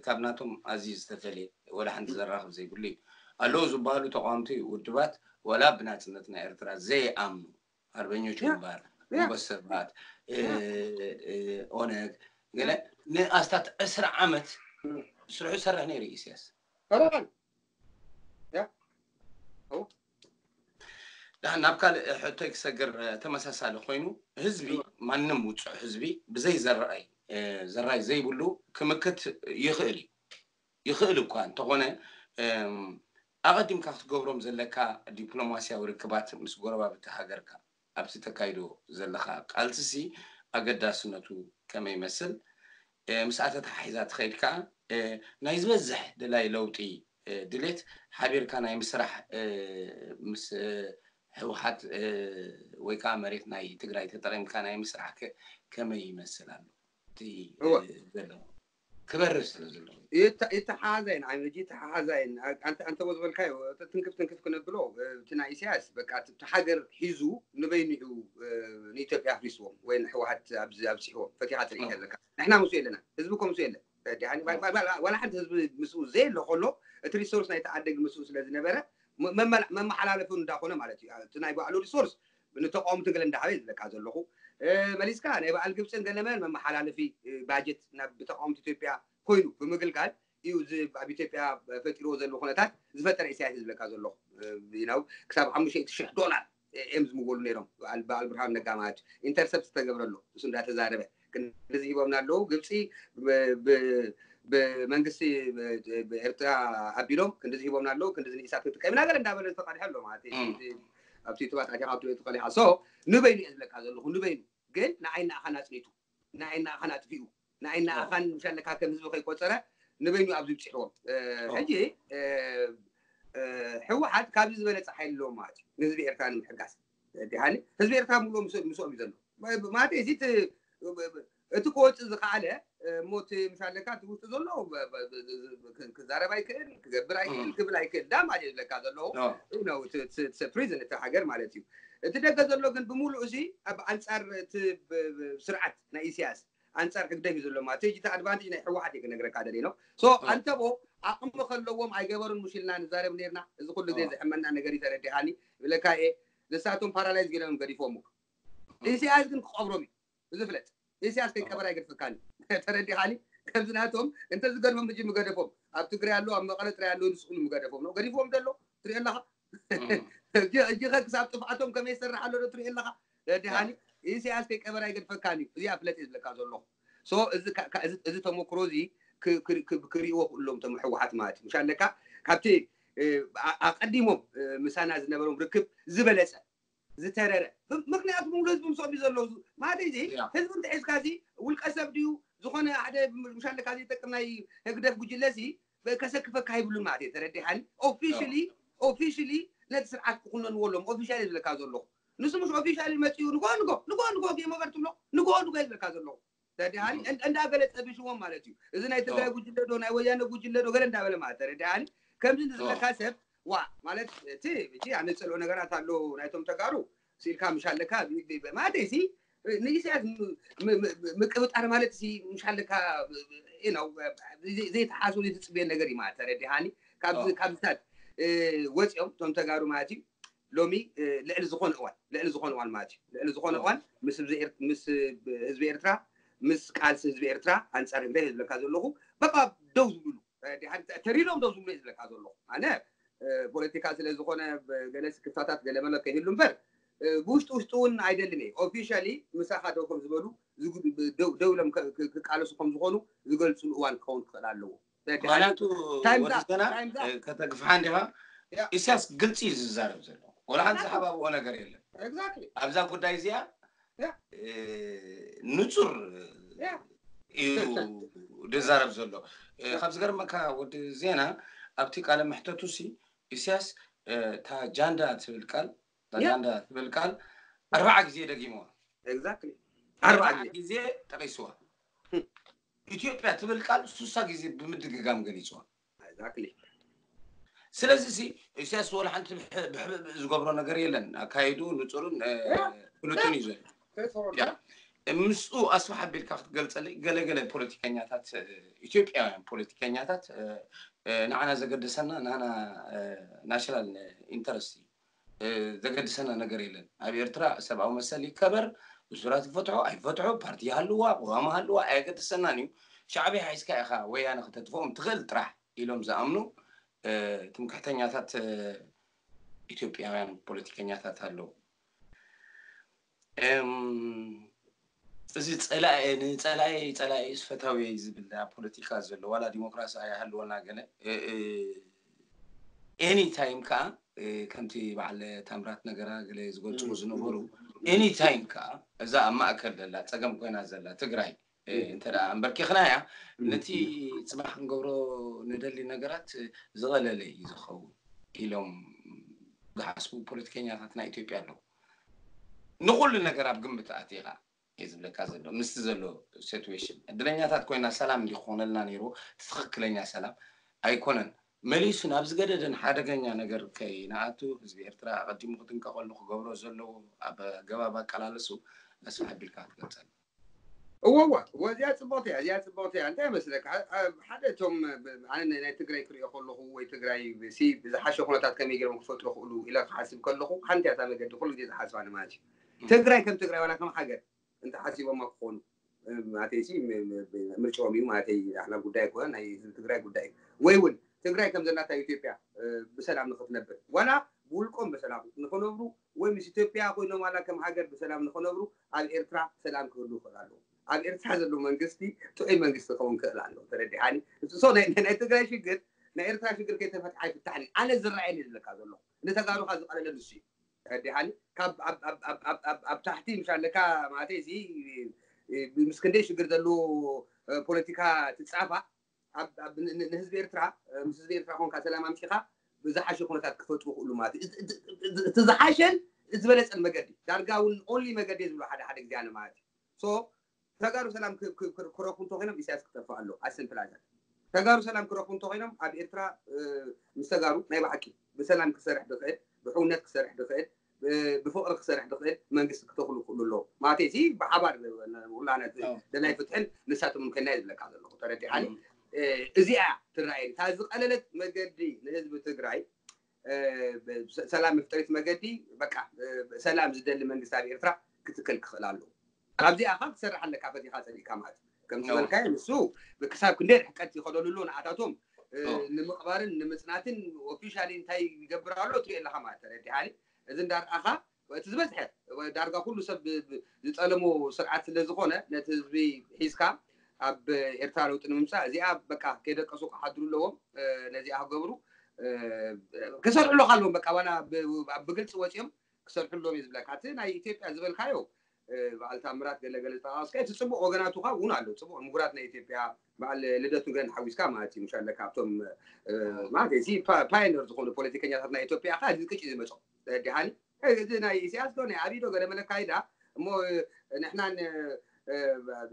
ካብ ናቶም ኣዝዩ ዝተፈልየ ወላ ሓንቲ ዘራኽብ ዘይብሉ እዩ። ኣለዉ ዝበሃሉ ተቃወምቲ ውድባት ወላ ብናፅነት ናይ ኤርትራ ዘይኣምኑ ኣርበኞች ግንባር፣ ግንቦት ሰባት፣ ኦነግ ገለ ንኣስታት ዕስራ ዓመት ስርሑ ዝሰርሕ ነይሩ እዩ ኢሳያስ። ደሓን ናብ ካልእ ሕቶይ ክሰግር ተመሳሳሊ ኮይኑ ህዝቢ ማንም ውፁዕ ህዝቢ ብዘይ ዘረኣይ ዘራይ ዘይብሉ ክምክት ይኽእል እዩ። ይኽእል እኳ እንተኾነ ኣቐዲምካ ክትገብሮም ዘለካ ዲፕሎማስያዊ ርክባት ምስ ጎረባብቲ ሃገርካ ኣብቲ ተካይዶ ዘለካ ቃልስሲ ኣገዳስነቱ ከመይ ይመስል? ምስኣ ተተሓሒዛ ትኸይድ ከዓ ናይ ዝበዝሕ ደላይ ለውጢ ድሌት ሓቢርካ ናይ ምስራሕ ምስ ህወሓት ወይ ከዓ መሬት ናይ ትግራይ ተጠቒምካ ናይ ምስራሕ ከመይ ይመስል ኣሎ? ዘሎ ክበርር ስለ ዘሎ ይተሓሓዛይን ዓመጂ ይተሓሓዛይን ኣንተ ዝበልካዮ ትንክፍ ትንክፍ ክነብሎ እቲ ናይ ኢሳያስ በቃ እቲ ሃገር ሒዙ ንበይኑ እዩ ንኢትዮጵያ ኣፍሪስዎም ወይ ንሕወሓት ኣብዚ ኣብሲሕዎም ፈቲኻ ትርኢ ኣለካ። ንሕና ምስኡ የለና ህዝቢ እኮ ምስኡ የለን። ዋላ ሓንቲ ህዝቢ ምስኡ ዘየለ ከሎ እቲ ሪሶርስ ናይቲ ዓደግ ምስኡ ስለ ዝነበረ መመሓላለፊ እንዳኾነ ማለት እዩ። እቲ ናይ ባዕሉ ሪሶርስ ንተቃወምቲ ገለ እንዳሃበ ዝብለካ ዘለኹ መሊስካ ናይ በዓል ግብፅን ገለመን መመሓላለፊ ባጀት ናብ ብተቃወምቲ ኢትዮጵያ ኮይኑ ብምግልጋል እዩ እዚ ኣብ ኢትዮጵያ ፈጢርዎ ዘሎ ኩነታት ዝፈጠረ ኢሳያስ ዝብለካ ዘለኹ። ክሳብ ሓሙሽተ ሽሕ ዶላር እዮም ዝምወሉ ነይሮም። በዓል ብርሃኑ ነጋ ማለት እዩ ኢንተርሰፕት ዝተገብረሉ እሱ እንዳተዛረበ ክንድዚ ሂቦምና ኣለዉ። ግብፂ ብመንግስቲ ብኤርትራ ኣቢሎም ክንዲዚ ሂቦምና ኣለዉ፣ ክንዲዚ ንኢሳት ክንጥቀም ኢና ገለ እንዳበለ ዝተቐድሐ ኣሎ ማለት እዩ። ኣብቲ ዩቱባት ኣቲኻ ኣብቲ ቤት ተቐዲሓ። ሶ ንበይኑ እየ ዝብለካ ዘለኹ፣ ንበይኑ ግን ንዓይ ንኣኻን ኣጽኒቱ፣ ንዓይ ንኣኻን ኣጥፊኡ፣ ንዓይ ንኣኻን ምሻለካ ከም ህዝቢ ከይቆጸረ ንበይኑ ኣብዚ ብጽሕዎም። ሕጂ ሕወሓት ካብዚ ዝበለጸ ሓይሊ ኣለዎም ማለት እዩ ንህዝቢ ኤርትራ ንምሕጋዝ። ዲሃኒ ህዝቢ ኤርትራ ምሉእ ምስኦም እዩ ዘሎ ማለት እዚ እቲ ክወፅእ ዝኸኣለ እሞ እቲ ምሻለካ እቲ ውሽጢ ዘሎ ክዛረብ ኣይክእል፣ ክገብር ኣይክእል፣ ክብል ኣይክእል ዳ ማለት እዩ ዝብለካ ዘለኹ። ፕሪዝን እቲ ሃገር ማለት እዩ። እቲ ደገ ዘሎ ግን ብምሉእ እዚ ኣብ ኣንፃር እቲ ስርዓት ናይ ኢሳያስ ኣንፃር ህግደፍ እዩ ዘሎ ማለት እዩ። እቲ ኣድቫንቴጅ ናይ ህወሓት እዩ ክነግረካ ደሊ ነው። ሶ ኣንተቦ ዓቕሚ ከለዎም ኣይገበሩን ምሽ ኢልና ንዛረብ ነርና። እዚ ኩሉ ግዜ ዘሕመና ነገር እዩ ተረዲኻኒ። ይብለካ እየ ንሳቶም ፓራላይዝ ገይሮም ገዲፎም። ኢሳያስ ግን ክቐብሮም እዩ። እዚ ፍለጥ። ኢሳያስ ከይቀበረ ኣይገድፈካን እዩ። ተረዲኻኒ? ከምዚ ናቶም እንተዝገድፎም ሕጂ ምገደፎም። ኣብ ትግራይ ኣለዉ፣ ኣብ መቐለ ጥራይ ኣለዉ፣ ንስኹም ምገደፎም ነው። ገዲፎም ዘሎ ትሪኦ ኣለኻ። እጂ ከ ክሳብ ጥፍኣቶም ከመይ ይሰርሕ ኣሎ ዶ ትሪኦ ኣለኻ? ተረዲኻኒ? ኢሳያስ ከይቀበረ ኣይገድፈካን እዩ። እዚኣ ፍለጥ እየ ዝብለካ ዘለኹ። ሶ እዚ ተመክሮ እዚ ክሪእዎ ክእሎም ቶም ህወሓት ማለት እዩ። ምሻለካ ካብቲ ኣቐዲሞም ምሳና ዝነበሮም ርክብ ዝበለፀ ዝተረረ ምክንያቱ ምሉ ህዝቢ ምስኦም እዩ ዘለዉ ማለት እዚ ህዝቢ እንተሒዝካ እዚ ውልቀ ሰብ ድዩ ዝኾነ ሓደ ምሻለካ ዘይጠቅም ናይ ህግደፍ ጉጅለ ሲ ከሰክፈካ ይብሉን ማለት እዩ። ተረዲሓኒ? ኦፊሽሊ ኦፊሽሊ ነቲ ስርዓት ክኩነንዎ ኣለዎም። ኦፊሻሊ ዝብለካ ዘለኹ ንሱ ምሽ ኦፊሻሊ መፅኡ ንጎ ንጎ ንጎ ንጎ ጌም ኦቨር ትብሎ ንጎ ንጎ ዝብለካ ዘለኹ ተረዲሃኒ? እንዳ ገለ ፀቢሽዎም ማለት እዩ። እዚ ናይ ትግራይ ጉጅለ ዶ ናይ ወያነ ጉጅለ ዶ ገለ እንዳበለ ማለት ተረዲሃኒ? ከምዚ ንዝብለካ ሰብ ዋ ማለት እቲ ሕጂ ኣነ ዝፀልኦ ነገራት ኣሎ ናይቶም ተጋሩ ስኢልካ ምሽ ኣለካ ማለት እዚ ንኢሳያስ ምቅብጣር ማለት ሲ ምሽ ኣለካ ነው ዘይተሓስቡ ዘይትፅብዮ ነገር እዩ ማለት ተረዲሃኒ? ካብዚ ካብዚታት ወፂኦም እቶም ተጋሩ ማለት እዩ ሎሚ ልዕሊ ዝኾነ እዋን ልዕሊ ዝኾነ እዋን ማለት እዩ ልዕሊ ዝኾነ እዋን ምስ ህዝቢ ኤርትራ ምስ ቃልሲ ህዝቢ ኤርትራ ኣንፃር ህግደፍ ዝብለካ ዘለኹ በቃ ደው ዝብሉ ተሪሮም ደው ዝብሉ ዝብለካ ዘለኹ ኣነ ፖለቲካ ስለ ዝኾነ ገለ ስክፍታታት ገለ መለ ከይህሉ እምበር ብውሽጢ ውሽጢ እውን ኣይደልን እየ ኦፊሻሊ ምሳኻ ደው ከም ዝበሉ ደው ኢሎም ክቃለሱ ከም ዝኾኑ ዝገልፅሉ እዋን ክኸውን ክኽእል ኣለዎ። ምክንያቱ ወዲሰና ከተግፍሓ እንዲኻ ኢሳያስ ግልፂ እዩ ዝዛረብ ዘሎ ወላ ሓንቲ ዝሓባብኦ ነገር የለን። ኣብዛ ጉዳይ እዚኣ ንፁር እዩ ዝዛረብ ዘሎ። ካብ ዝገርመካ ወዲ ዜና ኣብቲ ቃለ መሕተቱ ሲ ኢሳያስ እታ ጃንዳ ትብል ቃል እታ ጃንዳ ትብል ቃል ኣርባዓ ግዜ ደጊምዋ። ኣርባዓ ግዜ ጠቂስዋ። ኢትዮጵያ ትብል ቃል ሱሳ ግዜ ብምድግጋም ገሊፅዋ። ስለዚ ሲ ኢሳያስ ወላ ሓንቲ ብሕብእ ዝገብሮ ነገር የለን። ኣካይዱ ንፁርን ፍሉጥን እዩ ዘሎ። ምስኡ ኣስፍሕ ኣቢልካ ክትገልፀለይ ገለገለ ፖለቲከኛታት ኢትዮጵያውያን ፖለቲከኛታት ንዓና ዘገደሰና ንዓና ናሽናል ኢንተረስት እዩ ዘገድሰና ነገር የለን። ኣብ ኤርትራ ሰብኣዊ መሰል ይከበር፣ እሱራት ይፈትሑ ኣይፈትሑ፣ ፓርቲ ይሃልዋ፣ ቅዋም ሃልዋ ኣየገድሰናን እዩ። ሻዕብያ ሒዝካ ኢኻ ወያነ ክተጥፍኦም ትኽእል ጥራሕ ኢሎም ዝኣምኑ ትምክሕተኛታት ኢትዮጵያውያን ፖለቲከኛታት ኣለዉ። እዚ ጸላኢ ንጸላኢ ጸላኢ ስፈታዊ ዝብል ኣብ ፖለቲካ ዘሎ ዋላ ዲሞክራሲ ኣይሃልወና ገለ ኤኒ ታይም ከዓ ከምቲ በዓል ታምራት ነገራ ገለ ዝገልፅዎ ዝነበሩ ኤኒ ታይም ከዓ እዛ ኣብ ማእከል ዘላ ፀገም ኮይና ዘላ ትግራይ እንተ ኣንበርኪኽናያ ነቲ ፅባሕ ክንገብሮ ንደሊ ነገራት ዝቐለለ እዩ ዝኸውን ኢሎም ዝሓስቡ ፖለቲከኛታት ናይ ኢትዮጵያ ኣለዉ። ንኹሉ ነገር ኣብ ግምት ኣእቲኻ እየ ዝብለካ ዘሎ ምስቲ ዘሎ ሲትዌሽን ዕድለኛታት ኮይና ሰላም እንዲ ክኾነልና ነይሩ። እቲ ትኽክለኛ ሰላም ኣይኮነን። መሊሱ ናብ ዝገደደን ሓደገኛ ነገር ከይንኣቱ ህዝቢ ኤርትራ ኣቐዲሙ ክጥንቀቐሉ ክገብሮ ዘለዎ ኣብ ኣገባብ ኣቀላልሱ ኣስፍሕ ኣቢልካ ክትገልጸልና። እወ እወ እወ እዚኣ ፅቡቅቲ እያ እዚኣ ፅቡቅቲ እያ እንታይ መስለካ ሓደ እቶም ኣነ ናይ ትግራይ ክሪኦ ከለኹ ወይ ትግራይ ሲ ብዝሓሸ ኩነታት ከመይ ገይሮም ክፈጥሩ ክእሉ ኢለ ክሓስብ ከለኹ ሓንቲ እያ እታ መገዲ ኩሉ ግዜ ዝሓስባ ማለት እዩ ትግራይ ከም ትግራይ ዋላ ከም ሃገር እንተሓሲቦማ ክኾኑ ማለተይ ሲ ምርጫኦም እዩ ማለተይ ኣሕና ጉዳይ ኣይኮነ ናይ ህዝቢ ትግራይ ጉዳይ እዩ ወይ እውን ትግራይ ከም ዘላታ ኢትዮጵያ ብሰላም ንክትነብር ዋላ ብውልቆም ብሰላም ንክነብሩ ወይ ምስ ኢትዮጵያ ኮይኖም ዋላ ከም ሃገር ብሰላም ንክነብሩ ኣብ ኤርትራ ሰላም ክህሉ ይኽእል ኣለዎ። ኣብ ኤርትራ ዘሎ መንግስቲ ጥዑይ መንግስቲ ክኸውን ክእል ኣሎ። ተረዲሓኒ? So ናይ ናይ ትግራይ ሽግር ናይ ኤርትራ ሽግር ከይተፈትሐ ኣይፍታሕን እዩ። ኣነ ዝረኣየኒ ዝብለካ ዘሎ ንተጋሩኻ ዝቐለለ ንሱ እዩ። ተረዲሓኒ? ካብ ኣብ ኣብ ኣብ ኣብ ኣብ ኣብ ታሕቲ ምሽ ኣለካ ማለት እዚ ምስ ክንደይ ሽግር ዘለዎ ፖለቲካ ትጻፋ ኣብ ኣብ ን- ን- ንህዝቢ ኤርትራ ምስ ህዝቢ ኤርትራ ኮንካ ሰላም ኣምጺኻ ብዝሓሸ ኩነታት ክፈጥሩ ክእሉ ማለት እዩ። እቲ- እቲ- እቲ- እቲ ዝሓሸን ዝበለጸን መገዲ ዳርጋ እውን only መገዲ ዝብሎ ሓደ ሓደ ግዜ ኣነ ማለት እዩ። So ተጋሩ ሰላም ክ- ክ- ክ- ክረኽቡ እንተኮይኖም ኢሳያስ ክጠፍእ ኣለዎ። ኣሰምፕላዛት ተጋሩ ሰላም ክረኽቡ እንተኮይኖም ኣብ ኤርትራ ምስ ተጋሩ ናይ ብሓቂ ብሰላም ክሰርሕ ድኽእል ብሕውነት ክሰርሕ ድኽእል ብፍቕሪ ክሰርሕ ድኽእል መንግስቲ ክተኽሉ ክእሉ ኣለዎ ማለት እዚ ብሓባር ውላነት ደላይ ፍትሕን ንሳቶም ኮይና ዝብለካ ዘለኹ ተረዲሓኒ። እዚኣ ትረኣየኒ እታ ዝቐለለት መገዲ ንህዝቢ ትግራይ ሰላም መፍጠሪት መገዲ በቃ ሰላም ዝደሊ መንግስቲ ኣብ ኤርትራ ክትከል ክኽእል ኣለዎ። ካብዚኣ ካ ክሰርሕ ኣለካ ፈቲኻ ጸሊእካ ማለት እዩ። ከም ዝበልካዮ ንሱ ክሳብ ክንደይ ርሕቀት ይኸደሉ ኣለዉ ንዓታቶም ንምቕባርን ንምጽናትን ኦፊሻሊ እንታይ ይገብር ኣሎ ትሪኦ ኣለኻ ማለት ተረዲሓኒ። እዚ እንዳርኣኻ እቲ ዝበዝሐ ዳርጋ ኩሉ ሰብ ዝጠለሞ ስርዓት ስለ ዝኾነ ነቲ ህዝቢ ሒዝካ ኣብ ኤርትራ ለውጢ ንምምፃእ እዚኣ በቃ ከይደቀሱ ክሓድሩ ኣለዎም። ነዚኣ ክገብሩ ክሰርሕሉ ኣለዎም። በቃ ዋላ ብግልፂ ወፂኦም ክሰርሕሎም እዩ ዝብለካ። እቲ ናይ ኢትዮጵያ ዝበልካዮ በዓል ታምራት ገለገለ ዝጠቃቀስካ እቲ ፅቡቅ ወገናቱ ካ እውን ኣሎ። ፅቡቅ ምሁራት ናይ ኢትዮጵያ በዓል ልደቱ ገን ሓዊስካ ማለት እዩ። ምሻለ ካብቶም ማለት እዚ ፓዮነር ዝኾኑ ፖለቲከኛታት ናይ ኢትዮጵያ ካ እዚ ቅጭ ዝመፆም ዲሓኒ እዚ ናይ ኢሳያስ ዶ ናይ ኣብይ ዶ ገለ መለ ካይዳ እሞ ንሕናን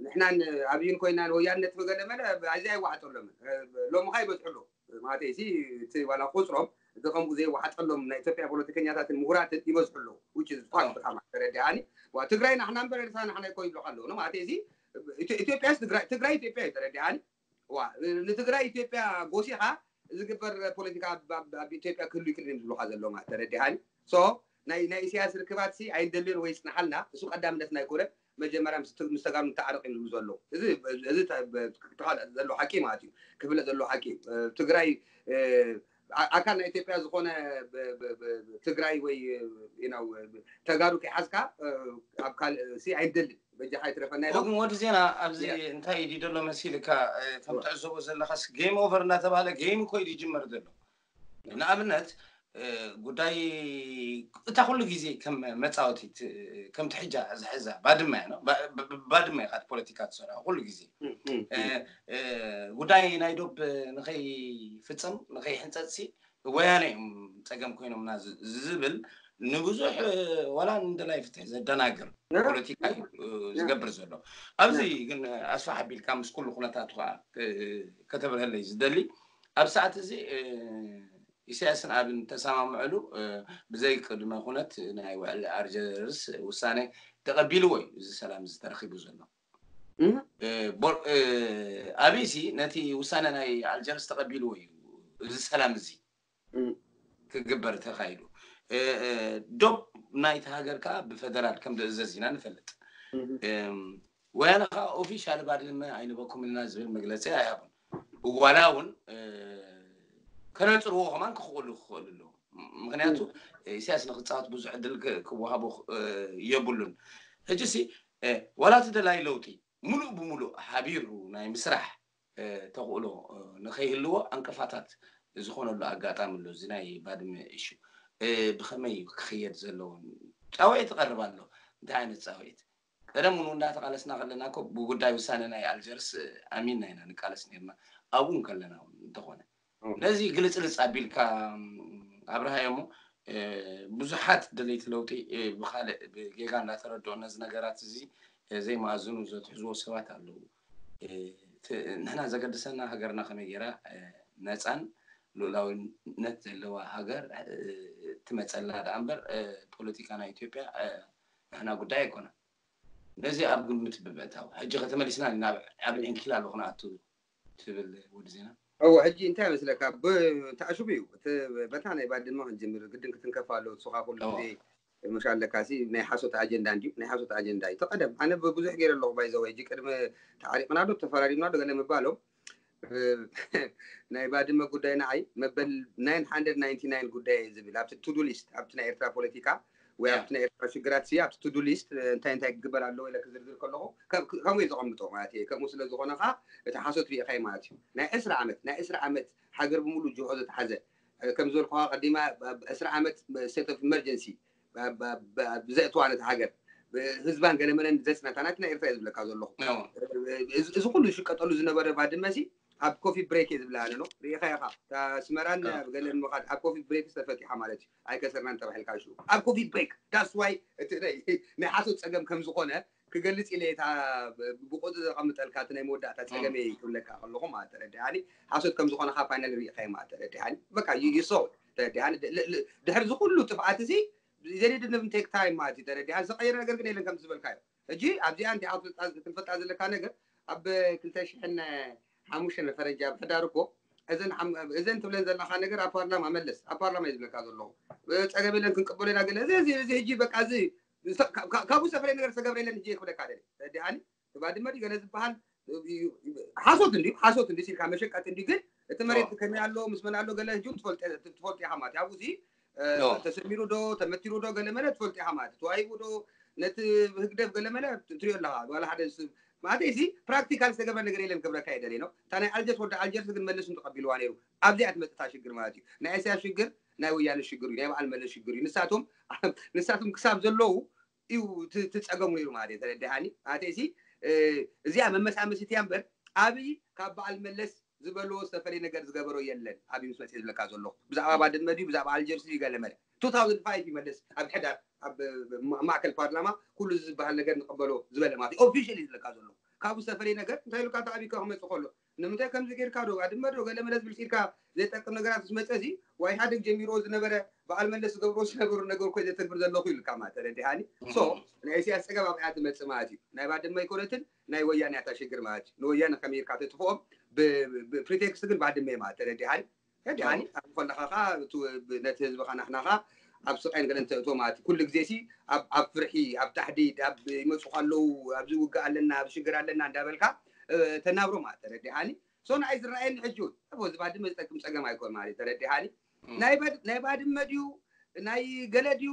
ንሕናን ኣብይን ኮይና ወያነት ገለ መለ እዚ ኣይዋሓጠሎምን። ሎሚ ካ ይበዝሑ ኣለዉ ማለት እዚ እቲ ዋላ ቁፅሮም እዚ ከምኡ ዘይዋሓጠሎም ናይ ኢትዮጵያ ፖለቲከኛታትን ምሁራትን ይበዝሑ ኣለዉ። Which is fact ብጣዕሚ ተረዲኣኒ። ትግራይ ናሕና እምበር ኤርትራ ናሕና ይኮ ይብሉ ኣለዉ ማለት እዚ ኢትዮጵያስ ትግራይ ትግራይ ኢትዮጵያ እዩ ተረዲኣኒ። ዋ ንትግራይ ኢትዮጵያ ጎሲኻ ዝግበር ፖለቲካ ኣብ ኢትዮጵያ ክህሉ ይክእል ዝብሉካ ዘለዉ ማለት ተረዲኣኒ። So ናይ ናይ ኢሳያስ ርክባት ሲ ኣይንደልን ወይ ይጽናሓልና እሱ ቀዳምነትና ኣይኮነን። መጀመርያ ምስ ተጋሩ ንተዓረቕ እዮም ዝብሉ ዘለዉ። እዚ እዚ ዘሎ ሓቂ ማለት እዩ። ክፍለጥ ዘሎ ሓቂ ትግራይ ኣካል ናይ ኢትዮጵያ ዝኾነ ትግራይ ወይ ተጋሩ ከይሓዝካ ኣብ ካልእ ሲ ኣይንደልን። በጃኻ ይትረፈና ኢሎም። ግን ወዲ ዜና ኣብዚ እንታይ እዩ ዘሎ መሲልካ ከም ትዕዘቦ ዘለኻስ ጌም ኦቨር እናተባህለ ጌም እኮ እዩ ዝጅመር ዘሎ። ንኣብነት ጉዳይ እታ ኩሉ ግዜ ከም መፃወቲት ከም ትሕጃ ዝሕዛ ባድመ እያ ባድመ ኢካ ፖለቲካ ትሰርሖ ኩሉ ግዜ ጉዳይ ናይ ዶብ ንኸይፍፅም ንኸይሕንፀፅሲ ወያነ እዮም ፀገም ኮይኖምና ዝብል ንብዙሕ ዋላ ንደላይ ፍትሒ ዘደናግር ፖለቲካ እዩ ዝገብር ዘሎ። ኣብዚ ግን ኣስፋሕ ኣቢልካ ምስ ኩሉ ኩነታቱ ከዓ ከተብርሀለይ ዝደሊ ኣብ ሰዓት እዚ ኢሳያስን ኣብን ተሰማምዐሉ ብዘይ ቅድመ ኩነት ናይ ውዕሊ ኣርጀርስ ውሳነ ተቐቢልዎ እዩ እዚ ሰላም እዚ ተረኪቡ ዘሎ። ኣብይሲ ነቲ ውሳነ ናይ ኣልጀርስ ተቐቢልዎ እዩ እዚ ሰላም እዚ ክግበር ተኻይዱ። ዶብ ናይቲ ሃገር ከዓ ብፈደራል ከም ዝእዘዝ ኢና ንፈልጥ። ወያነ ከዓ ኦፊሻል ባድመ ኣይንበኩም ኢልና ዝብል መግለፂ ኣይሃቡን። ዋላ እውን ከነፅርዎ ከማን ክኽእሉ ክኽእሉ ኣለዉ። ምክንያቱ ኢሳያስ ንክፃወት ብዙሕ ዕድል ክወሃቦ የብሉን። ሕጂ ሲ ዋላ እቲ ደላይ ለውጢ ሙሉእ ብሙሉእ ሓቢሩ ናይ ምስራሕ ተኽእሎ ንኸይህልዎ ዕንቅፋታት ዝኾነሉ ኣጋጣሚ ኣሎ። እዚ ናይ ባድመ እሹ ብኸመይ ክኽየድ ዘለዎን ፃውዒት ይቐርብ ኣሎ። እንታይ ዓይነት ፃውዒት? ቀደም እውን እንዳተቃለስና ከለና እኮ ብጉዳይ ውሳነ ናይ ኣልጀርስ ኣሚንና ኢና ንቃለስ ነርና። ኣብኡ ከለና እውን እንተኾነ ነዚ ግልፅልፅ ኣቢልካ ኣብርሃዮ እሞ ብዙሓት ደለይቲ ለውጢ ብካልእ ብጌጋ እንዳተረድኦ ነዚ ነገራት እዚ ዘይመኣዝኑ ዘትሕዝዎ ሰባት ኣለዉ። ንሕና ዘገድሰና ሃገርና ከመይ ገይራ ነፃን ልኡላዊነት ዘለዋ ሃገር ትመፀላ ደኣ እምበር ፖለቲካ ናይ ኢትዮጵያ ንሕና ጉዳይ ኣይኮነን። ነዚ ኣብ ግምት ብምእታው ሕጂ ከተመሊስና ናብ ዓብን ዕንኪላሎ ክንኣቱ ትብል ወዲ ዜና። እወ ሕጂ እንታይ መስለካ ተኣሽቡ እዩ በታ ናይ ባድመ ክንጅምር ግድን ክትንከፍ ኣሎ። ንስኻ ኩሉ ግዜ ምሽ ኣለካ ሲ ናይ ሓሶት ኣጀንዳ እንድዩ ናይ ሓሶት ኣጀንዳ እዩ ተቐደም ኣነ ብዙሕ ገይረ ኣለኹ ባይዘወ ሕጂ ቅድሚ ተዓሪቕና ዶ ተፈራሪምና ዶ ገለ ምባሎም ናይ ባድመ ጉዳይ ንዓይ መበል ናይን ሓንድረድ ናይንቲ ናይን ጉዳይ እየ ዝብል ኣብቲ ቱዱ ሊስት ኣብቲ ናይ ኤርትራ ፖለቲካ ወይ ኣብቲ ናይ ኤርትራ ሽግራት ሲ ኣብቲ ቱዱ ሊስት እንታይ እንታይ ክግበር ኣለዎ ኢለ ክዝርዝር ከለኹ ከምኡ እዩ ዘቐምጦ ማለት እዩ። ከምኡ ስለ ዝኾነ ከዓ እቲ ሓሶት ሪኢኻይ ማለት እዩ። ናይ ዕስራ ዓመት ናይ ዕስራ ዓመት ሃገር ብምሉ ጅሆ ዘተሓዘ ከም ዝበልኩኻ ቀዲማ ዕስራ ዓመት state of emergency ብዘእትዋ ነቲ ሃገር ህዝባን ገለመለን ዘፅነታ ናቲ ናይ ኤርትራ እየ ዝብለካ ዘለኹ። እዚ ኩሉ ዝሽቀጠሉ ዝነበረ ባድመ ሲ ኣብ ኮፊ ብሬክ እየ ዝብላ ኣነ ነው ሪኢኻ ኢኻ። ኣስመራን ገለን ምኻድ ኣብ ኮፊ ብሬክ ዝተፈቲሓ ማለት እዩ። ኣይከሰርናን ተባሂልካ ሽኡ ኣብ ኮፊ ብሬክ that's why እቲ ናይ ሓሶት ፀገም ከም ዝኾነ ክገልፅ ኢለ እታ ብቁፅ ዘቐምጠልካ እቲ ናይ መወዳእታ ፀገም እየ ክብለካ ከለኹ ማለት ተረዲኣኒ። ሓሶት ከም ዝኾነ ካብ ፋይናል ሪኢኻ ማለት ተረዲኣኒ። በቃ ይሶ ተረዲኣኒ። ድሕሪ ዝኩሉ ጥፍኣት እዚ they didn't take time ማለት እዩ ተረዲኣኒ። ዝቐየረ ነገር ግን የለን ከም ዝበልካዮ። ሕጂ ኣብዚኣ እንዲኣ ክትፈልጣ ዘለካ ነገር ኣብ ክልተ ሽሕን ሓሙሽተን ፈረንጂ ኣብ ሕዳር እኮ እዘን እዘን ትብለን ዘለካ ነገር ኣብ ፓርላማ መለስ ኣብ ፓርላማ እዩ ዝብለካ ዘለኹ። ፀገም የለን ክንቅበሎ ኢና ገለ እዚ እዚ ሕጂ በቃ እዚ ካብኡ ሰፈረ ነገር ዝተገብረ የለን ሕጂ ክብለካ ደለ ተረዲኣኒ። ባድመ ድዩ ገለ ዝበሃል ሓሶት እንዲ ሓሶት እንዲ ሲልካ መሸቀጥ እንዲ ግን እቲ መሬት ከመይ ኣሎ ምስ መን ኣሎ ገለ ሕጂ ትፈልጦ ኢኻ ማለት ኣብኡ ተሰሚሩ ዶ ተመቲሩ ዶ ገለ መለ ትፈልጦ ኢኻ ማለት ተዋሂቡ ዶ ነቲ ህግደፍ ገለ መለ ትሪኦ ኣለኻ ዋላ ሓደ ማለት እዚ ፕራክቲካል ዝተገብረ ነገር የለን ክብረካ የደለ ነው። እታ ናይ ኣልጀርስ ወዲ ኣልጀርስ ግን መለስ ተቐቢልዋ ነይሩ። ኣብዚኣ ትመፅታ ሽግር ማለት እዩ። ናይ እስያስ ሽግር ናይ ወያነ ሽግር እዩ። ናይ በዓል መለስ ሽግር እዩ። ንሳቶም ንሳቶም ክሳብ ዘለዉ እዩ ትፀገሙ ነይሩ ማለት እዩ። ተረዲሃኒ ኣተሲ እዚኣ መመሳመሲት እያ እምበር ኣብይ ካብ በዓል መለስ ዝበልዎ ዝተፈለየ ነገር ዝገበሮ የለን። ኣብይ ምስ መፅእ ዝብለካ ዘለኹ ብዛዕባ ባድመ ድዩ ብዛዕባ ኣልጀርስ ድዩ ገለመለ two thousand five ይመለስ ኣብ ሕዳር ኣብ ማእከል ፓርላማ ኩሉ ዝበሃል ነገር ንቀበሎ ዝበለ ማለት ኦፊሻል ዝብለካ ዘለኹ ካብኡ ዝተፈለየ ነገር እንታይ ኢሉካ ኣብይ ክመፅእ ከሎ ንምንታይ ከምዚ ጌርካ ዶ ባድመ ዶ ገለመለ ዝብል ኢልካ ዘይጠቅም ነገራት ምስ መፀ እዚ ዋይ ሓደግ ጀሚርዎ ዝነበረ በዓል መለስ ዝገብርዎ ዝነበሩ ነገር እኮ ዘተግብር ዘለኹ ኢልካ ማለት ተረዲሃኒ። ሶ ናይ ኢሳያስ ፀገም ኣብኣ ትመፅእ ማለት እዩ። ናይ ባድመ ኣይኮነትን ናይ ወያነ እያ እታ ሽግር ማለት እዩ። ንወያነ ከመይ ኢልካ ተጥፍኦም ብፕሪቴክስት ግን ባድመ ማለት ተረዲሃኒ። ተረዲሃኒ ኣብ ከለኻ ከዓ ነቲ ህዝብኻ ናሕናኻ ኣብ ስቃይን ገለን ተእቶ ማለት እዩ። ኩሉ ግዜ ሲ ኣብ ፍርሒ ኣብ ታሕዲድ ኣብ ይመፁ ከለዉ ኣብዚ ውግእ ኣለና ኣብ ሽግር ኣለና እንዳበልካ ተናብሮ ማለት ተረዲሃኒ። ሶ ንዓይ ዝረኣየኒ ሕጂ እውን እዚ ባድመ ዝጠቅም ፀገም ኣይኮን ማለት ተረዲሃኒ። ናይ ባድመ ድዩ ናይ ገለ ድዩ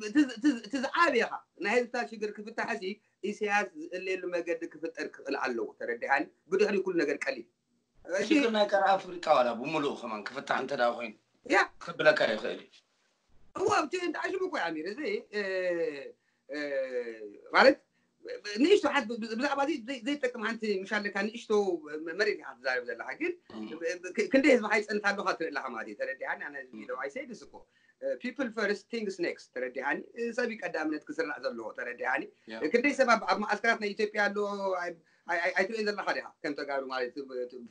እቲ ዝዓብየኻ ናይ ህዝብታት ሽግር ክፍታሕ ሲ ኢሳያስ ዝእለየሉ መገዲ ክፍጠር ክኽእል ኣለዎ። ተረዲሃኒ። ብድሕሪ ኩሉ ነገር ቀሊል ሽግር ናይ ቀር ኣፍሪቃ ዋላ ብምሉእ ከማን ክፍታሕ እንተ ኮይኑ ያ ክብለካ ይኽእል እዩ። እዋ ኣብቲ እንዳ ሽሙ እኮ ኣሚር እዚ ማለት ንእሽቶ ሓት ብዛዕባ ዘይጠቅም ሓንቲ ምሻለካ ንእሽቶ መሬት ኢኻ ትዛረብ ዘለካ ግን ክንደይ ህዝቢ ካይፀንት ኣለካ ትርኢ ኣለካ ማለት እዩ። ተረዲሃኒ ኣነ ኢለው ኣይሰይድስ እኮ people first things next ተረዲሃኒ። ሰብ ቀዳምነት ክስራዕ ዘለዎ ተረዲሃኒ። ክንደይ ሰብ ኣብ መዓስከራት ናይ ኢትዮጵያ ኣሎ ኣይትርእን ዘለካ ዲካ ከም ተጋሩ ማለት